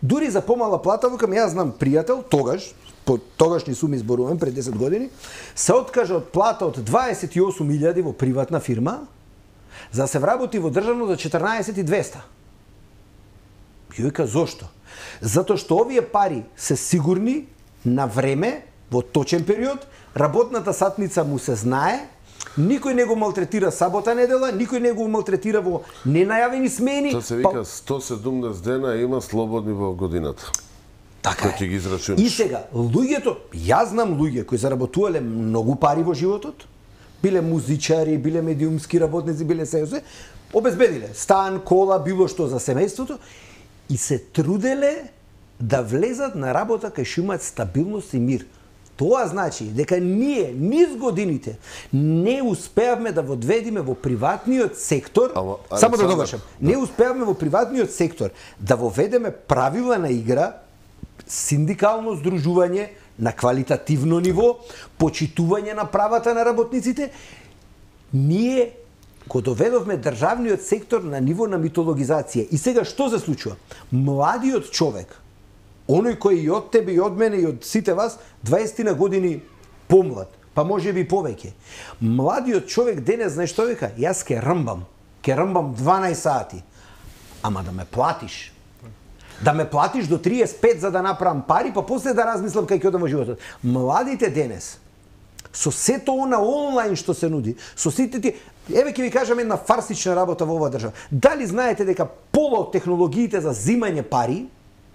Дури за помала плата, викам, јас знам пријател, тогаш, по тогашни суми зборувам, пред десет години, се откажа од плата од дваесет и осум илјади во приватна фирма, за да се вработи во државно за четрнаесет и двеста. Ја вика, зошто? Затоа што овие пари се сигурни на време, во точен период, работната сатница му се знае, никој не го малтретира сабота недела, никој не го малтретира во ненајавени смени. Тоа се вика сто седумдесет дена има слободни во годината. Така е. Ги израчунаш. И сега, луѓето, јас знам луѓе кои заработувале многу пари во животот, биле музичари, биле медиумски работници, биле сејосе, обезбедиле стан, кола, било што за семејството и се труделе да влезат на работа кај што имаат стабилност и мир. Тоа значи дека ние низ годините не успеавме да водведиме во приватниот сектор, Ама, само да довршам, да. Не успеавме во приватниот сектор да воведеме правила на игра, синдикално здружување на квалитативно ниво, почитување на правата на работниците. Ние го доведовме државниот сектор на ниво на митологизација. И сега што се случува? Младиот човек, оној кој и од тебе, и од мене, и од сите вас, дваесет години помлад, па може би повеќе. Младиот човек денес, знаеш што вика? Јас ке рмбам, ке рмбам дванаесет сати. Ама да ме платиш. Да ме платиш до триесет и пет за да направам пари, па после да размислам кај ќе одам во животот. Младите денес, со сето она онлайн што се нуди, со сите ти... Еве ќе ви кажам една фарсична работа во оваа држава. Дали знаете дека пола од технологиите за зимање пари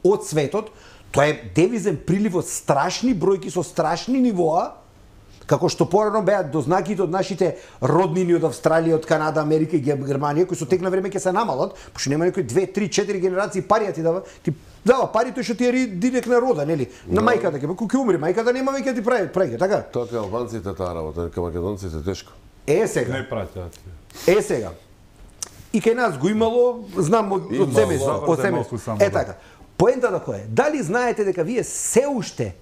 од светот, тоа е девизен прилив од страшни бројки со страшни нивоа, како што порано беа дознаките од нашите роднини од Австралија, од Канада, Америка и Германија, кои со тек на време ќе се намалат, пошто нема некои две, три, четири генерации пари ти дава, ти дава пари тој што ти е директна рода, нели? На мајката ќе, кога ќе умре мајката нема веќе ти прави, прави, така? Тоа кај албанците таа работа, кај македонците тешко. Е сега. Не праќаат. Е сега. И кај нас го имало, знам од од себе, од себе. Е така. Поентата која е? Дали знаете дека вие се уште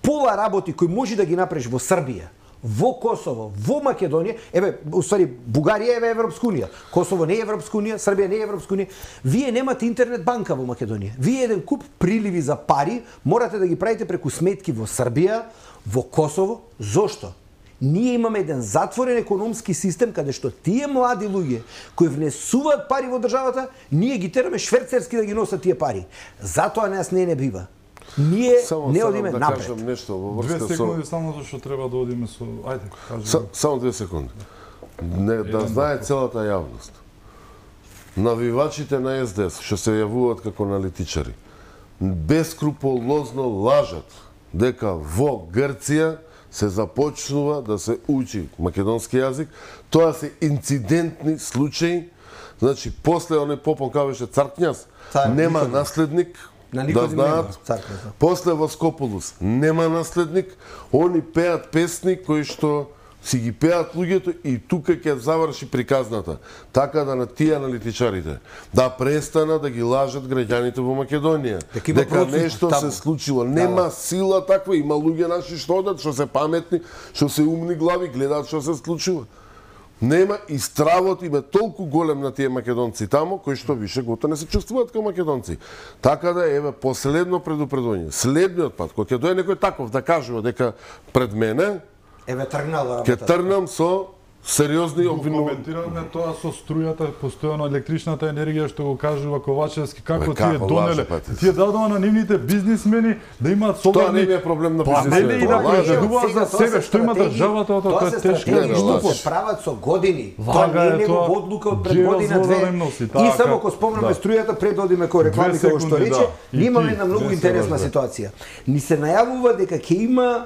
пола работи кои може да ги направиш во Србија, во Косово, во Македонија, еве, уствари, Бугарија е Европска унија, Косово не е Европска унија, Србија не е Европска унија, вие немате интернет банка во Македонија. Вие еден куп приливи за пари морате да ги правите преку сметки во Србија, во Косово. Зошто? Ние имаме еден затворен економски систем каде што тие млади луѓе кои внесуваат пари во државата, ние ги тераме шверцерски да ги носат тие пари. Затоа нас не не бива. Ние само, не само одиме да напред. Кажам нешто во врска Две со... секунди само зашто треба да одиме со... Ајде, кажи. Са, само две секунди. Не, да знае целата јавност. Навивачите на Ес Де Ес, што се јавуваат како аналитичари, бескруполозно лажат дека во Грција се започнува да се учи македонски јазик. Тоа се инцидентни случаи. Значи, после оној попон кавеше цар књаз, Цар, нема никој не. наследник, На да никој нема знаат. цар књаз. После Воскопулус нема наследник, они пеат песни кои што си ги пеат луѓето и тука ќе заврши приказната. Така да на тие аналитичарите да престанат да ги лажат граѓаните во Македонија. Дека има Дека процес нешто таму. се случило. Нема Да, да. сила таква, има луѓе наши што одат, што се паметни, што се умни глави, гледаат што се случува. Нема и стравот им е толку голем на тие македонци тамо, кои што више гото не се чувствуваат како македонци. Така да еве последно предупредување. Следниот пат кога ќе дое некој таков да кажува дека пред мене Еве тргнала ќе работата. тргнам со сериозни обвинувања. Коментираме тоа со струјата, постојано електричната енергија што го кажува Ковачевски, како Бе, тие како донеле. лаже, Тие дадоа на нивните бизнисмени да имаат Тоа не солидни е проблем на панели бизнисмените. и да Лаже. произведуваат за Сега, тоа себе се што има стратегии- државата, тоа Тоа тоа се е тешко. стратегии Не, што лаже. се прават со години. Тоа Вага не е е негова тоа. одлука од пред Ги година развода две. не носи, И така. само ако спомнеме Да. струјата, пред да одиме кој реклами Две како што секунди, рече, да. И ние имаме ти, една многу две интересна секунди. ситуација. Ни се најавува дека ќе има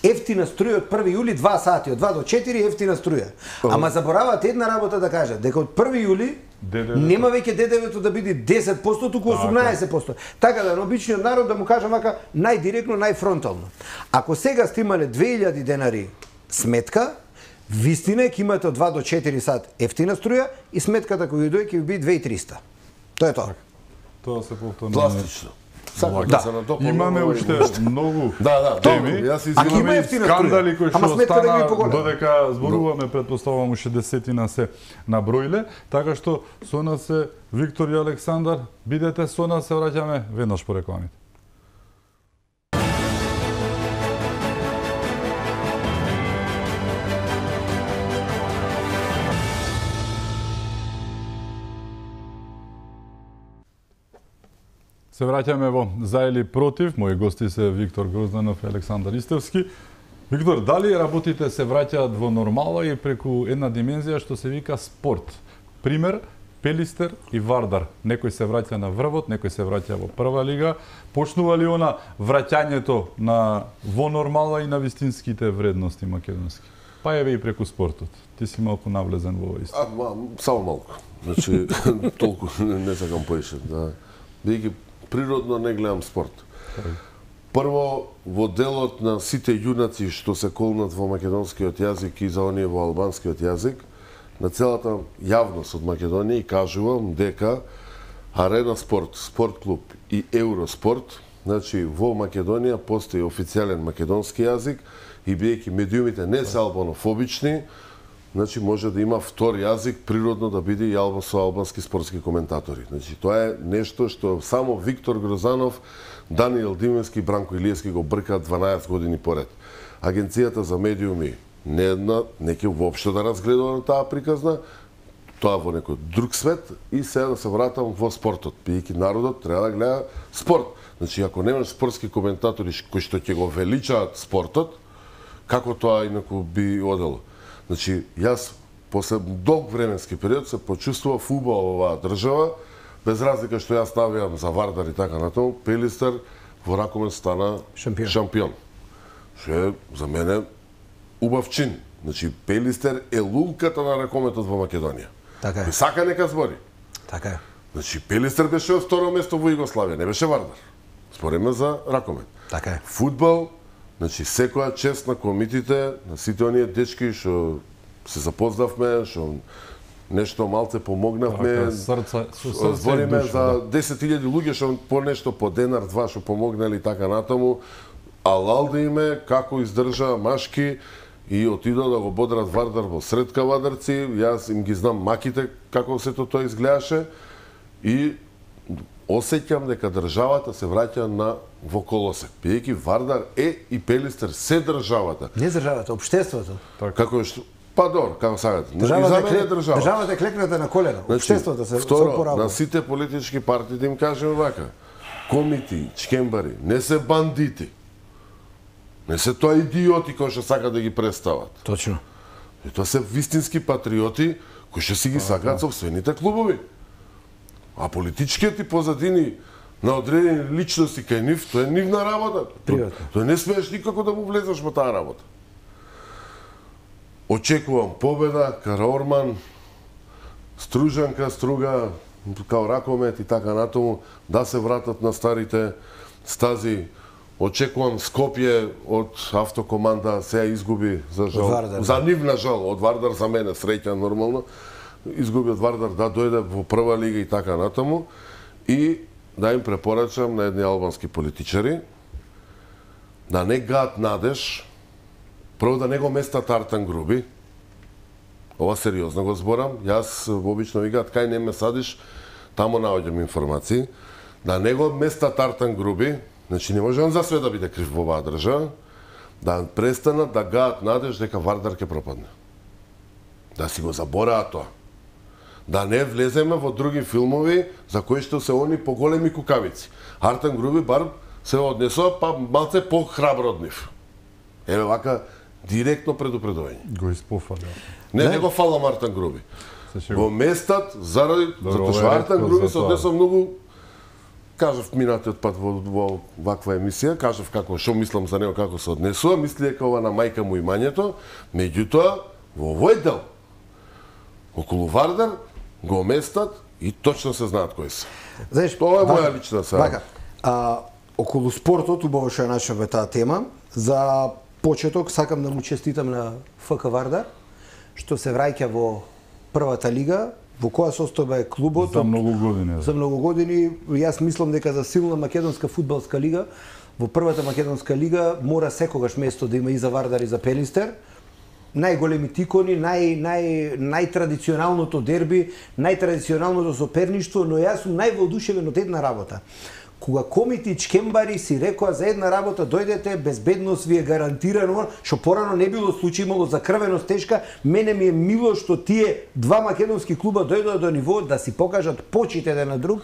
ефтина струја од први јули, два сати, од два до четири ефтина струја. Ама забораваат една работа да кажат, дека од први јули ДДВ-то. нема веќе ДДВ-то да биде десет проценти, туку осумнаесет проценти. Така да на обичниот народ да му кажам вака најдиректно, најфронтално. Ако сега сте имале две илјади денари сметка, вистина е ќе имате од два до четири сат ефтина струја и сметката која дојде ќе ви биде две и триста. Тоа е тоа. Тоа се повторно. Пластично. Сакам да, Да. се надополнам. Имаме овој уште нешто. многу Да, да, теми. добро, јас Ако извинувам. има Имаме и ефтина скандали струја, кои ама што сметка да ги стана поголема. додека зборуваме, претпоставувам уште десетина се наброиле, така што со нас е Виктор и Александар. Бидете со нас, се враќаме веднаш по рекламите. Се враќаме во За или против. Мои гости се Виктор Грозданов и Александар Истевски. Виктор, дали работите се враќаат во нормала и преку една димензија што се вика спорт? Пример, Пелистер и Вардар. Некој се враќа на врвот, некој се враќа во прва лига. Почнува ли она враќањето на во нормала и на вистинските вредности македонски? Па еве и преку спортот. Ти си малку навлезен во овој исто. А, ма, само малку. Значи, толку не, не сакам поише. Да. Бидејќи природно не гледам спорт. Прво, во делот на сите јунаци што се колнат во македонскиот јазик и за оние во албанскиот јазик, на целата јавност од Македонија и кажувам дека Арена Спорт, Спорт клуб и Евроспорт, значи во Македонија постои официјален македонски јазик и бидејќи медиумите не се албанофобични, значи може да има втор јазик, природно да биде и албан со албански спортски коментатори. Значи тоа е нешто што само Виктор Грозанов, Даниел Дименски и Бранко Илиевски го бркаат дванаесет години поред. Агенцијата за медиуми не една, не ќе воопшто да разгледува на таа приказна, тоа во некој друг свет и сега да се вратам во спортот. Бидејќи народот треба да гледа спорт. Значи ако немаш спортски коментатори кои што ќе го величаат спортот, како тоа инаку би одело? Значи, јас после долг временски период се почувствував убаво во оваа држава, без разлика што јас навијам за Вардар и така натаму, Пелистер во ракомет стана Шампион. шампион. Што е за мене убав чин. Значи, Пелистер е лулката на ракометот во Македонија. Така е. И сака нека збори. Така е. Значи, Пелистер беше од второ место во Југославија, не беше Вардар. Спореме за ракомет. Така е. Фудбал, значи секоја чест на комитите, на сите оние дечки што се запознавме, што нешто малце помогнавме. Така, срца, со срце и Збориме душа, за да. десет илјади луѓе што по нешто, по денар, два што помогнали и така натаму. Алал да име, како издржа машки и отидоа да го бодрат Вардар во сред кавадарци. Јас им ги знам маките како сето тоа изгледаше и осеќам дека државата се враќа на во колосек. Бидејќи Вардар е и Пелистер се државата. Не државата, општеството. Како е што па добро, како сакате. И за Државата, мене е е држава. државата е клекната на колена. Значи, Општеството се второ, се опоравува. на сите политички партии да им кажеме вака. Комити, чкембари, не се бандити. Не се тоа идиоти кои што сакат да ги представат. Точно. И тоа се вистински патриоти кои што си ги сакаат сопствените клубови. А политичкиот и позадини на одредени личности кај нив, тоа е нивна работа. Приватно. Тоа не смееш никако да му влезеш во таа работа. Очекувам победа, Караорман, Стружанка, Струга, као ракомет и така натаму, да се вратат на старите стази. Очекувам Скопје од автокоманда, сега изгуби за жал. Вардар, За да. нив на жал, од Вардар за мене среќа нормално. Изгуби од Вардар да дојде во прва лига и така натаму. И да им препорачам на едни албански политичари да не гаат надеж, прво да не го местат Артан Груби. Ова сериозно го зборам. Јас обично ви гаат кај не ме садиш, таму наоѓам информации. Да не го местат Артан Груби, значи не може он за све да биде крив во оваа држава, да престанат да гаат надеж дека Вардар ќе пропадне. да си го забораат тоа. Да не влеземе во други филмови за кои што се они поголеми кукавици. Артан Груби бар се однесува па малце похрабро од нив. Еве вака директно предупредување. Го испофаля. Не, не, не го фалам Артан Груби. Во местат заради Добро, затоа што Артан Груби се за тоа. однесува многу, кажав минатиот пат во, во ваква емисија, кажав како што мислам за него како се однесува, мисли дека ова на мајка му имањето, меѓутоа во овој дел околу Вардар го местат и точно се знаат кои се. Знаеш, Тоа е вака, моја лична саја. Вака, а, околу спортот, убаво што ја начнавме таа тема, за почеток сакам да му честитам на ФК Вардар, што се враќа во првата лига, во која состојба е клубот. За многу години. За многу години, јас мислам дека за силна македонска фудбалска лига, во првата македонска лига мора секогаш место да има и за Вардар и за Пелистер. Најголеми тикони, нај, нај, најтрадиционалното дерби, најтрадиционалното соперништво, но јас сум највоодушевен од една работа. Кога Комити и Чкембари си рекоа за една работа, дојдете, безбедност ви е гарантирано, што порано не било случај, имало закрвеност тешка, мене ми е мило што тие два македонски клуба дојдоа до ниво да си покажат почит еден на друг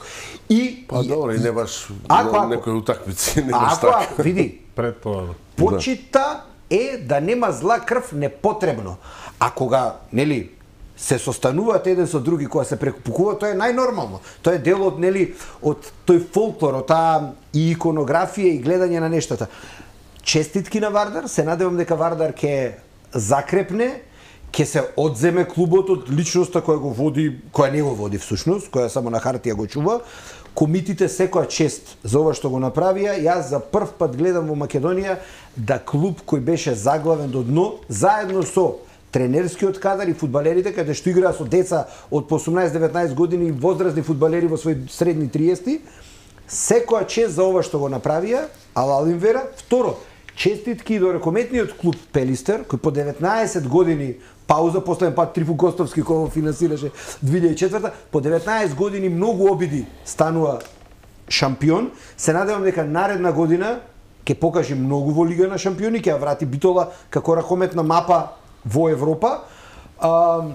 и... Па добро, и не баш Ако, ако. некои утакмици, не баш Ако, така. ако, види, Пред тоа. почита е да нема зла крв непотребно. А кога, нели, се состануваат еден со други, кога се прекупукуваат, тоа е најнормално. Тоа е дел од, нели, од тој фолклор, од таа и иконографија и гледање на нештата. Честитки на Вардар, се надевам дека Вардар ќе закрепне, ќе се одземе клубот од личноста која го води, која не го води всушност, која само на хартија го чува. Комитите секоја чест за ова што го направија. Јас за прв пат гледам во Македонија да клуб кој беше заглавен до дно, заедно со тренерскиот кадар и фудбалерите, каде што играа со деца од по осумнаесет-деветнаесет години и возрастни фудбалери во своји средни триесет, секоја чест за ова што го направија, алал им вера. Второ, честитки до рекометниот клуб Пелистер, кој по деветнаесет години пауза, последен пат Трифун Костовски кој го финансираше две илјади и четврта, по деветнаесет години многу обиди станува шампион. Се надевам дека наредна година ќе покаже многу во Лига на шампиони, ќе ја врати Битола како ракометна мапа во Европа. А,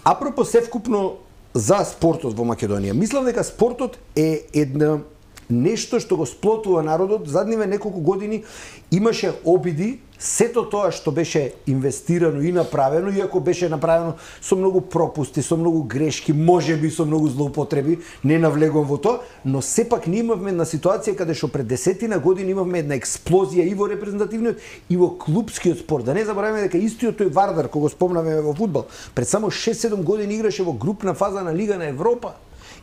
апропо севкупно за спортот во Македонија, мислам дека спортот е една нешто што го сплотува народот. Задниве неколку години имаше обиди сето тоа што беше инвестирано и направено, иако беше направено со многу пропусти, со многу грешки, можеби со многу злоупотреби, не навлегувам во тоа, но сепак ние имавме една ситуација каде што пред десетина години имавме една експлозија и во репрезентативниот и во клупскиот спорт. Да не забораваме дека истиот тој Вардар, кој го спомнаме во фудбал, пред само шест-седум години играше во групна фаза на Лига на Европа.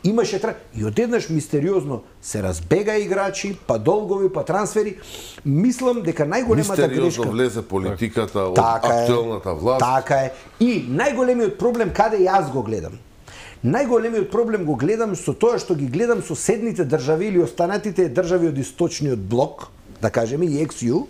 Имаше тра... и одеднаш мистериозно се разбега играчи, па долгови, па трансфери. Мислам дека најголемата грешка... Мистериозно влезе политиката од така актуелната е, власт. Така е. И најголемиот проблем каде јас го гледам. Најголемиот проблем го гледам со тоа што ги гледам соседните држави или останатите држави од источниот блок, да кажеме и екс ју,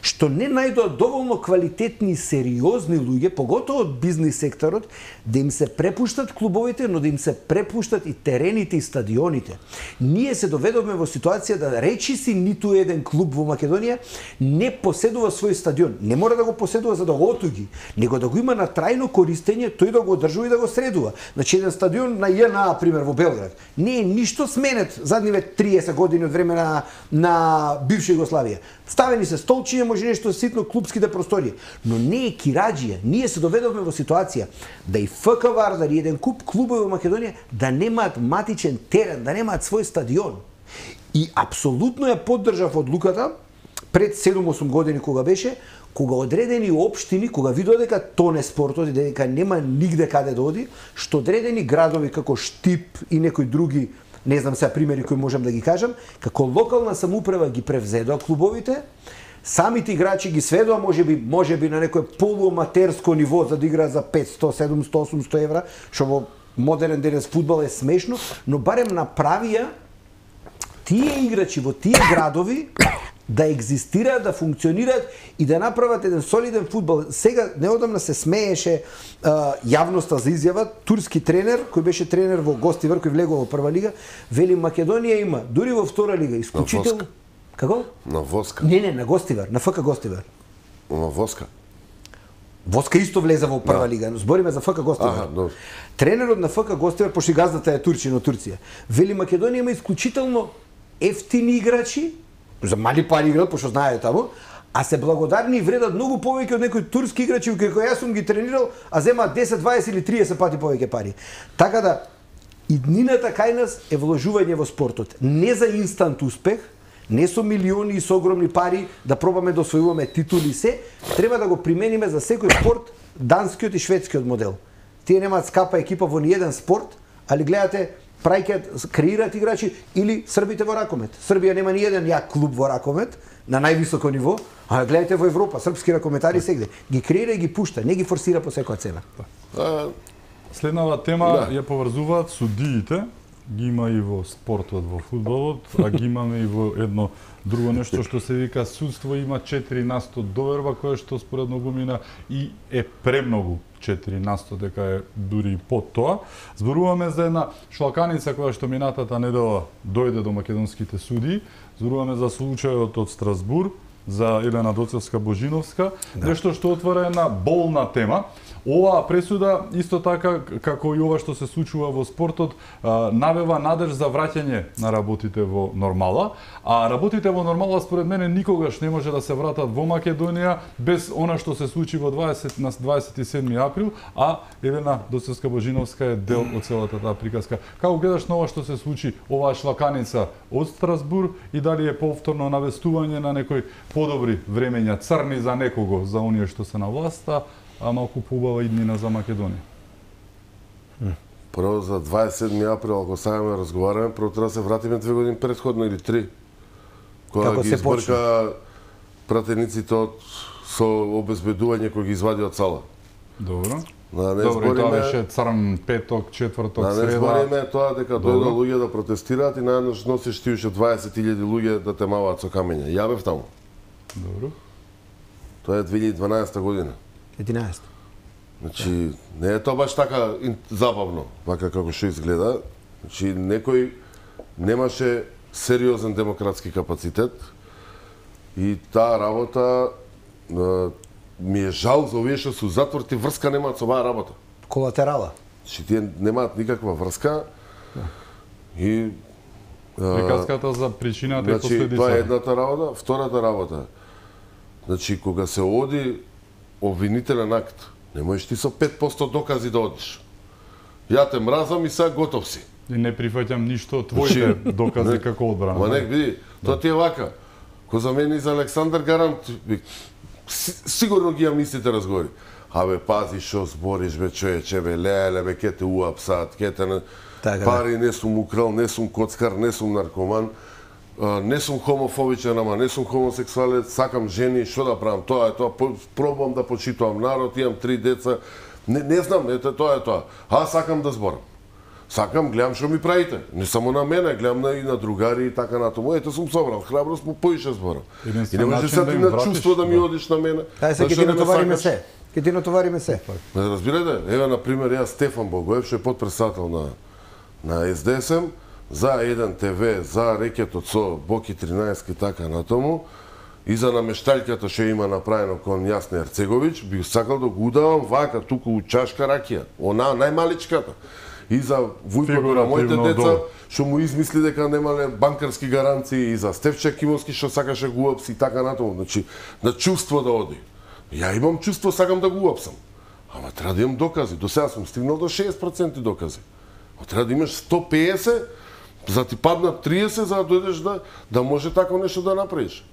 што не најдоа доволно квалитетни и сериозни луѓе, поготово од бизнис секторот, да им се препуштат клубовите, но да им се препуштат и терените и стадионите. Ние се доведовме во ситуација да речи си ниту еден клуб во Македонија не поседува свој стадион. Не мора да го поседува за да го отуги, него да го има на трајно користење, тој да го одржува и да го средува. Значи еден стадион на Ја Ен А, пример, во Белград, не е ништо сменет задниве триесет години од време на, на бивша Југославија. Ставени се столчиња, може нешто ситно клубските простории, но не е кираџија. Ние се доведовме во ситуација да и ФК Вардар и еден куп клубови во Македонија да немаат матичен терен, да немаат свој стадион. И апсолутно ја поддржав одлуката пред седум-осум години кога беше, кога одредени општини, кога видоа дека тоне спортот и дека нема нигде каде да оди, што одредени градови како Штип и некои други, не знам сега примери кои можам да ги кажам, како локална самоуправа ги превзедоа клубовите, самите играчи ги сведоа можеби можеби на некое полуаматерско ниво за да играат за петсто, седумсто, осумсто евра, што во модерен денес фудбал е смешно, но барем направија тие играчи во тие градови да екзистираат, да функционираат и да направат еден солиден фудбал. Сега неодамна се смееше а, јавноста за изјава турски тренер кој беше тренер во Гостивар, кој влегува во прва лига, вели Македонија има дури во втора лига исклучително. Како? На Воска. Не, не, на Гостивар, на ФК Гостивар. На Воска. Воска исто влезе во прва лига, но збориме за ФК Гостивар. Аха, добро. Тренерот на ФК Гостивар, пошто газдата е турчин од Турција, вели Македонија има исклучително ефтини играчи, за мали пари играат, пошто знае таму, а се благодарни и вредат многу повеќе од некои турски играчи кои јас сум ги тренирал, а земаат десет, дваесет или триесет пати повеќе пари. Така да иднината кај нас е вложување во спортот, не за инстант успех, не со милиони и со огромни пари да пробаме да освојуваме титули се, треба да го примениме за секој спорт данскиот и шведскиот модел. Тие немаат скапа екипа во ниеден спорт, али гледате праќаат, креираат играчи, или србите во ракомет. Србија нема ниеден јак клуб во ракомет на највисоко ниво, а гледате во Европа, српски ракометари сегде ги креира и ги пушта, не ги форсира по секоја цена. Следнава тема ја поврзуваат судиите, ги има и во спортот, во фудбалот, а ги имаме и во едно друго нешто што се вика судство, има четири на сто доверба, кое што според многумина и е премногу четири на сто, дека е дури и под тоа. Зборуваме за една шлаканица која што минатата недела дојде до македонските судии, зборуваме за случајот од Страсбур, за Елена Доцевска-Божиновска, да. Нешто што отвора една болна тема. Оваа пресуда, исто така како и ова што се случува во спортот, навева надеж за враќање на работите во нормала, а работите во нормала според мене никогаш не може да се вратат во Македонија без она што се случи во дваесет на дваесет и седми април, а Елена Доцевска-Божиновска е дел од целата таа приказка. Како гледаш на ова што се случи, оваа шлаканица од Страсбур, и дали е повторно навестување на некои подобри времења, црни за некого, за оние што се на власта, а малку поубава иднина за Македонија? Прво за дваесет и седми април, ако сакаме разговараме, прво треба да се вратиме две години предходно или три. Кога Како ги се избрка пратениците од со обезбедување кои ги извади од сала. Добро. Да не Добро, и тоа збориме, беше црн петок, четврток, да не среда. збориме тоа дека Добро. дојдоа луѓе да протестираат и наеднаш носиш ти уште дваесет илјади луѓе да те маваат со камења. Ја бев таму. Добро. Тоа е две илјади и дванаесета година. единаесет. Значи, не е тоа баш така забавно, вака како што изгледа. Значи, некој немаше сериозен демократски капацитет и таа работа е, ми е жал за овие што се затвор, ти врска немаат со оваа работа. Колатерала. Значи, тие немаат никаква врска и Приказката за причината и значи, последицата. тоа е едната работа. Втората работа, значи, кога се оди обвинителен акт, не можеш ти со пет посто докази да одиш. Ја те мразам и сега готов си. И не прифаќам ништо од твоите докази не, како одбрана. Ма нек види, тоа ти е вака. Ко за мене и за Александар Гарант, си, сигурно ги ја мислите разговори. Абе, пази шо збориш, бе, човече, бе, леле, бе, ке те уапсат, ке те... Не... Така, Пари не сум украл, не сум коцкар, не сум наркоман, не сум хомофобичен, ама не сум хомосексуалец, сакам жени, што да правам, тоа е тоа, пробувам да почитувам народ, имам три деца, не, не знам, ете, тоа е тоа. А сакам да зборам. Сакам, гледам што ми правите. Не само на мене, гледам на, и на другари и така натаму. Ете, сум собрал храброст, по поише зборам. И не може сега ти на чувство да ми одиш на мене. Ај се, ќе ти натовариме се. Ќе ти натовариме се. Разбирате, еве, например, јас Стефан Богоев, што е подпредседател на на Ес Де Ес Ем, за еден Те Ве, за рекетот со Боки тринаесет и така натаму, и за намештаljката што има направено кон Јасна Ерцеговиќ, би сакал да го удавам вака, туку у чашка ракија, она најмаличката. И за Вујкото на моите деца, што му измисли дека немале банкарски гаранции, и за Стефче Кимовски што сакаше го уапси и така натаму. Значи, на чувство да оди. Ја имам чувство, сакам да го уапсам. Ама треба да имам докази. До сега сум стигнал до шеесет проценти докази. Треба да имаш сто пеесет, за ти паднат триесет, за да дојдеш да, да може тако нешто да направиш.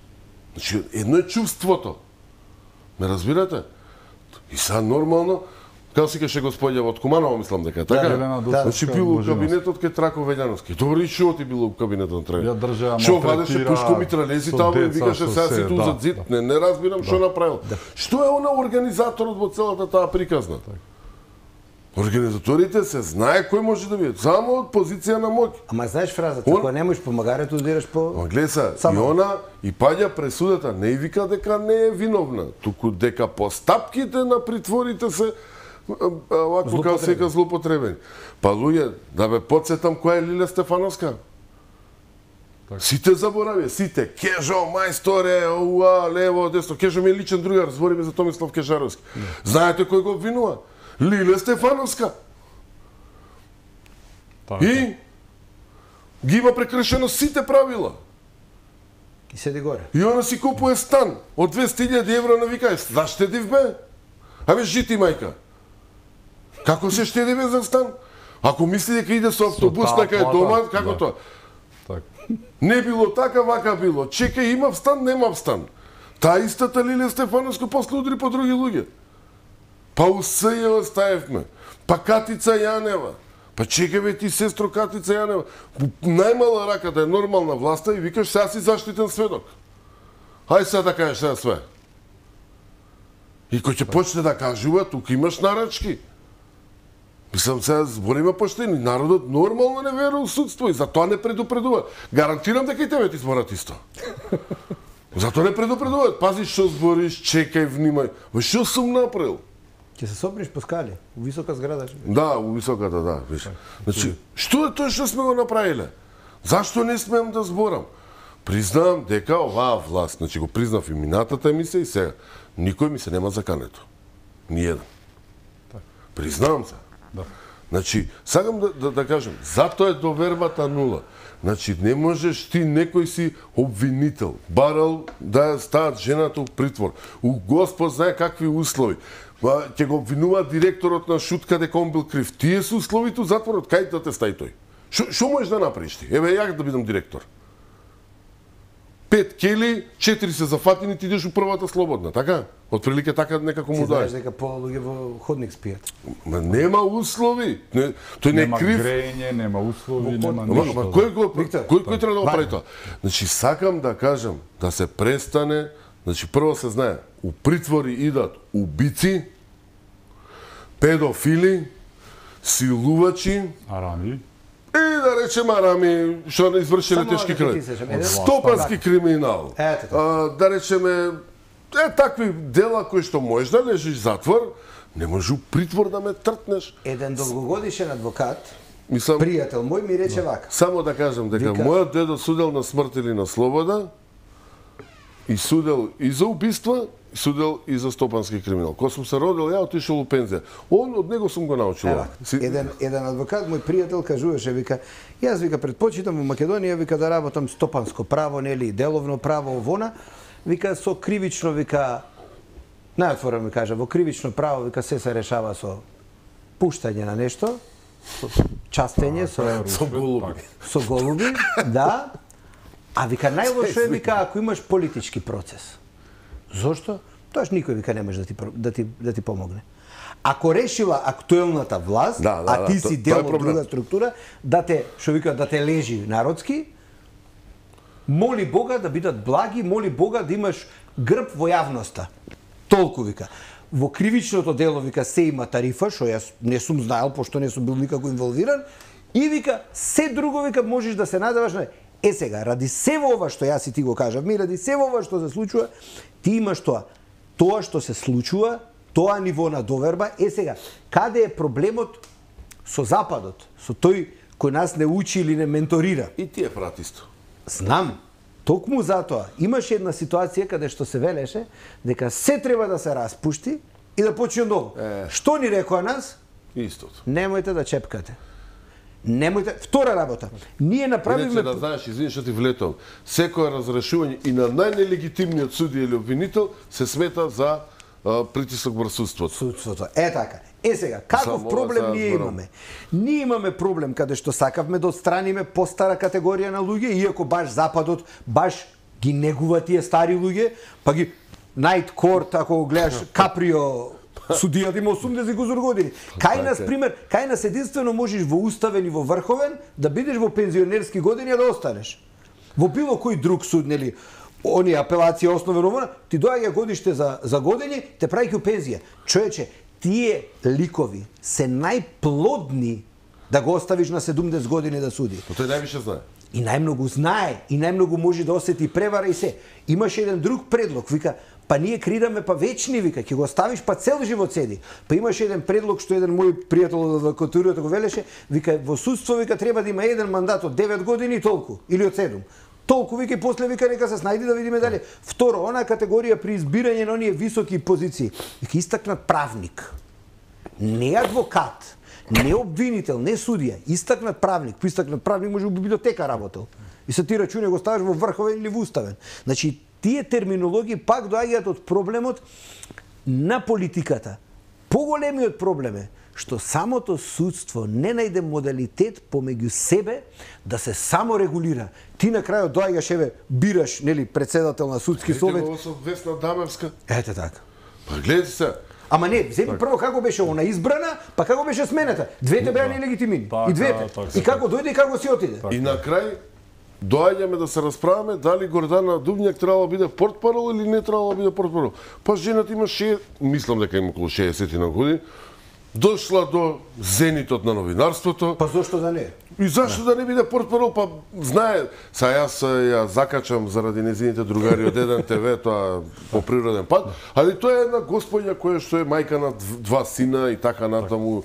Значи, едно е чувството. Ме разбирате? И сега нормално, како си каше господја од Куманова, мислам дека, така? Елена Да, значи бил у Доцевска-Божиновска. кабинетот кај Трако Велјановски. Добро, и шо ти било у кабинетот на Трако? Ја држаа, Шо малтретира вадеше пушко митралези со таму и деца, викаше со сега се, си ту да, зад зид. да. Не, не разбирам што направил. Што е она организаторот во целата таа приказна? Организаторите се знае кој може да биде, само од позиција на моќ. Ама знаеш фразата, Он- ако не можеш помагарето, одираш по... Ма гледа се, и Само. она и паѓа пресудата, не и вика дека не е виновна, туку дека постапките на притворите се а, а, овако како се вика злоупотребени. Па луѓе, да бе подсетам која е Лиле Стефановска. Сите заборавија, сите. Кежо, мајсторе, уа, лево, десно. Кежо ми е личен другар, збориме за Томислав Кежаровски. Знаете кој го обвинува? Лиле Стефановска. Така. И ги има прекршено сите правила. И седи горе. И она си купува стан од двесте илјади евра, на вика, заштедив бе? Абе, жити мајка. Како се штеди бе за стан? Ако мисли дека иде со автобус таа дека е плата, дома, како да. тоа? Така. Не било така, вака било. Чекај, имав стан, немав стан. Таа истата Лилија Стефановска после удри по други луѓе. Па усе ја оставивме. Па Катица Јанева. Па чекај бе ти, сестро Катица Јанева. Најмала раката е нормална власта и викаш сега си заштитен сведок. Хај сега да кажеш сега све. И кој ќе почне да кажува, тука имаш нарачки. Мислам, сега збориме поштени. Народот нормално не верува у судство и затоа не предупредува. Гарантирам дека и тебе ти зборат исто. Затоа не предупредуваат. Пази што збориш, чекај, внимај. Ва што сум направил? Ќе се сопнеш по скали, у висока зграда. Да, у високата, да, виж. Значи, што е тоа што сме го направиле? Зашто не смеам да зборам? Признавам дека оваа власт, значи го признав и минатата емисија и сега, никој ми се нема закането. Ниједен. Признавам се. Да. Значи, сакам да, да, да кажем, затоа е довербата нула. Значи, не можеш ти некој си обвинител, барал да ја стават жената у притвор. У Господ знае какви услови. Па ќе го обвинува директорот на Шутка дека он бил крив. Тие се условите у затворот, кај да те стаи тој? Шо, шо можеш да направиш ти? Еве ја да бидам директор. Пет кели, четири се зафатени, ти идеш у првата слободна, така? Од прилика така некако му Ти знаеш дај. дека пола луѓе во ходник спијат. Ма нема услови. Не, тој не е Нема крив. грејење, нема услови, Во нема Ама, ништо. ама кој го Виктор, кој кој треба да го вајде. прави тоа? Значи сакам да кажам да се престане, значи прво се знае, у притвори идат убици, педофили, силувачи Арами. и да речеме арами што не извршиле Само тешки да ти крај. сечам, еден- Стопански криминал. Ете тоа. А, да речеме е такви дела кои што можеш да лежиш затвор, не може у притвор да ме тртнеш. Еден долгогодишен адвокат, Мислам, пријател мој, ми рече вака. само да кажам дека Вика- мојот дедо судел на смрт или на слобода и судел и за убиства, и судел и за стопански криминал. Кога сум се родил, ја отишол у пензија. Он од него сум го научил. Ева, еден еден адвокат, мој пријател, кажуваше, вика, јас вика предпочитам во Македонија вика да работам стопанско право, нели, деловно право вона, вика со кривично, вика најотворено ми кажа, во кривично право вика се се решава со пуштање на нешто, со частење, со Со голуби. со голуби, да. А вика најлошо е вика ако имаш политички процес. Зошто? Тоаш никој вика не може да ти про- да ти да ти помогне. Ако решила актуелната власт, Да, да, а ти да, си то- дел тоа е од проблем. друга структура, да те што вика да те лежи народски, моли Бога да бидат благи, моли Бога да имаш грб во јавноста. Толку вика. Во кривичното дело вика се има тарифа, што јас не сум знаел пошто не сум бил никако инволвиран, и вика се друго вика можеш да се надеваш на е сега ради сево ова што јас и ти го кажав, ми ради сево ова што се случува, ти имаш тоа. Тоа што се случува, тоа ниво на доверба, е сега каде е проблемот со Западот, со тој кој нас не учи или не менторира. И тие прат исто. Знам. Токму затоа имаше една ситуација каде што се велеше дека се треба да се распушти и да почне ново. Е. Што ни рекоа нас? Истото. Немојте да чепкате. Немојте. Втора работа. Ние Иначе направивме да знаеш, извини што ти влетам, секое разрешување и на најнелегитимниот судија или обвинител се смета за а, притисок врз судството. судството. Е така. Е сега, каков Само проблем ова ние зборам. имаме? Ние имаме проблем каде што сакавме да отстраниме постара категорија на луѓе, иако баш Западот баш ги негува тие стари луѓе, па ги Night Court, ако го гледаш Каприо, судијата има осумдесет години. Кај нас, пример, кај нас единствено можеш во уставен и во врховен да бидеш во пензионерски години а да останеш. Во било кој друг суд, нели, они апелација основен омона, ти доаѓа годиште за за години, те прави у пензија. Човече, тие ликови се најплодни да го оставиш на седумдесет години да суди. Но тој највише знае. И најмногу знае, и најмногу може да осети превара и се. Имаше еден друг предлог, вика, па ние креираме па вечни, вика, ќе го оставиш па цел живот седи. Па имаше еден предлог што еден мој пријател од адвокатурата го велеше, вика, во судство, вика, треба да има еден мандат од девет години и толку, или од седум. Толку вика и после вика нека се снајди да видиме дали. Второ, она категорија при избирање на оние високи позиции, вика истакнат правник. Не адвокат, не обвинител, не судија, истакнат правник. По истакнат правник може би библиотека работел. И се ти рачуне го ставаш во врховен или во уставен. Значи, тие терминологии пак доаѓаат од проблемот на политиката. Поголемиот проблем е што самото судство не најде модалитет помеѓу себе да се саморегулира. Ти на крајот доаѓаш, еве, бираш, нели, председател на судски совет. Ете го со Весна Дамевска. Ете така. Па гледате се. Ама не, земи прво како беше она избрана, па како беше смената. Двете беа нелегитимни. И двете. И како дојде и како си отиде. И на крај доаѓаме да се расправаме дали Гордана Дубњак требало да биде портпарол или не требало да биде портпарол. Па жената има ше, мислам дека има околу шеесет на години, дошла до зенитот на новинарството. Па зошто да не? И зашто да не биде портпарол, па знае, са јас ја закачам заради незините другари од еден те ве, тоа по природен пат, али тоа е една господја која што е мајка на два сина и така натаму,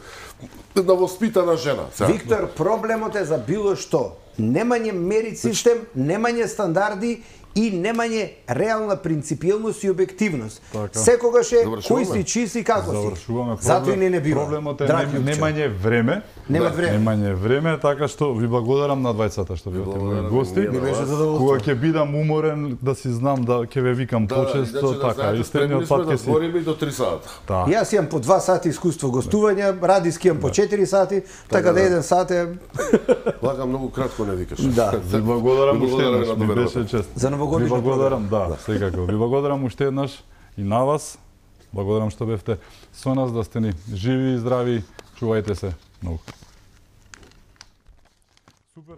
една воспитана жена. Сега. Виктор, проблемот е за било што. Немање мерит систем, немање стандарди и немање реална принципиелност и објективност. Така. Секогаш е Завршуваме. кој си, чи си, како си. Завршуваме. Затоа и не не бива. Проблемот е Драги нем, Јупче. немање време. Нема Да, време. Немање време, така што ви благодарам на двајцата што бевте мои гости. Ми беше задоволство. Кога ќе бидам уморен да си знам да ќе ве викам Да, почесто, иначе да така, знаете, истемниот спремни сме пат да ќе си. збориме и до три сата. Да. Јас имам по два сати искуство гостувања, Радиски имам по четири сати, така да да. еден сат е... Лага многу кратко не викаш. Да. Ви благодарам Ви уште благодарам еднаш, на ми довербата. беше чест. За новогодишна Ви благодарам, да, секако. Ви благодарам уште еднаш и на вас. Благодарам што бевте со нас, да сте ни живи и здрави. Чувајте се многу. Супер.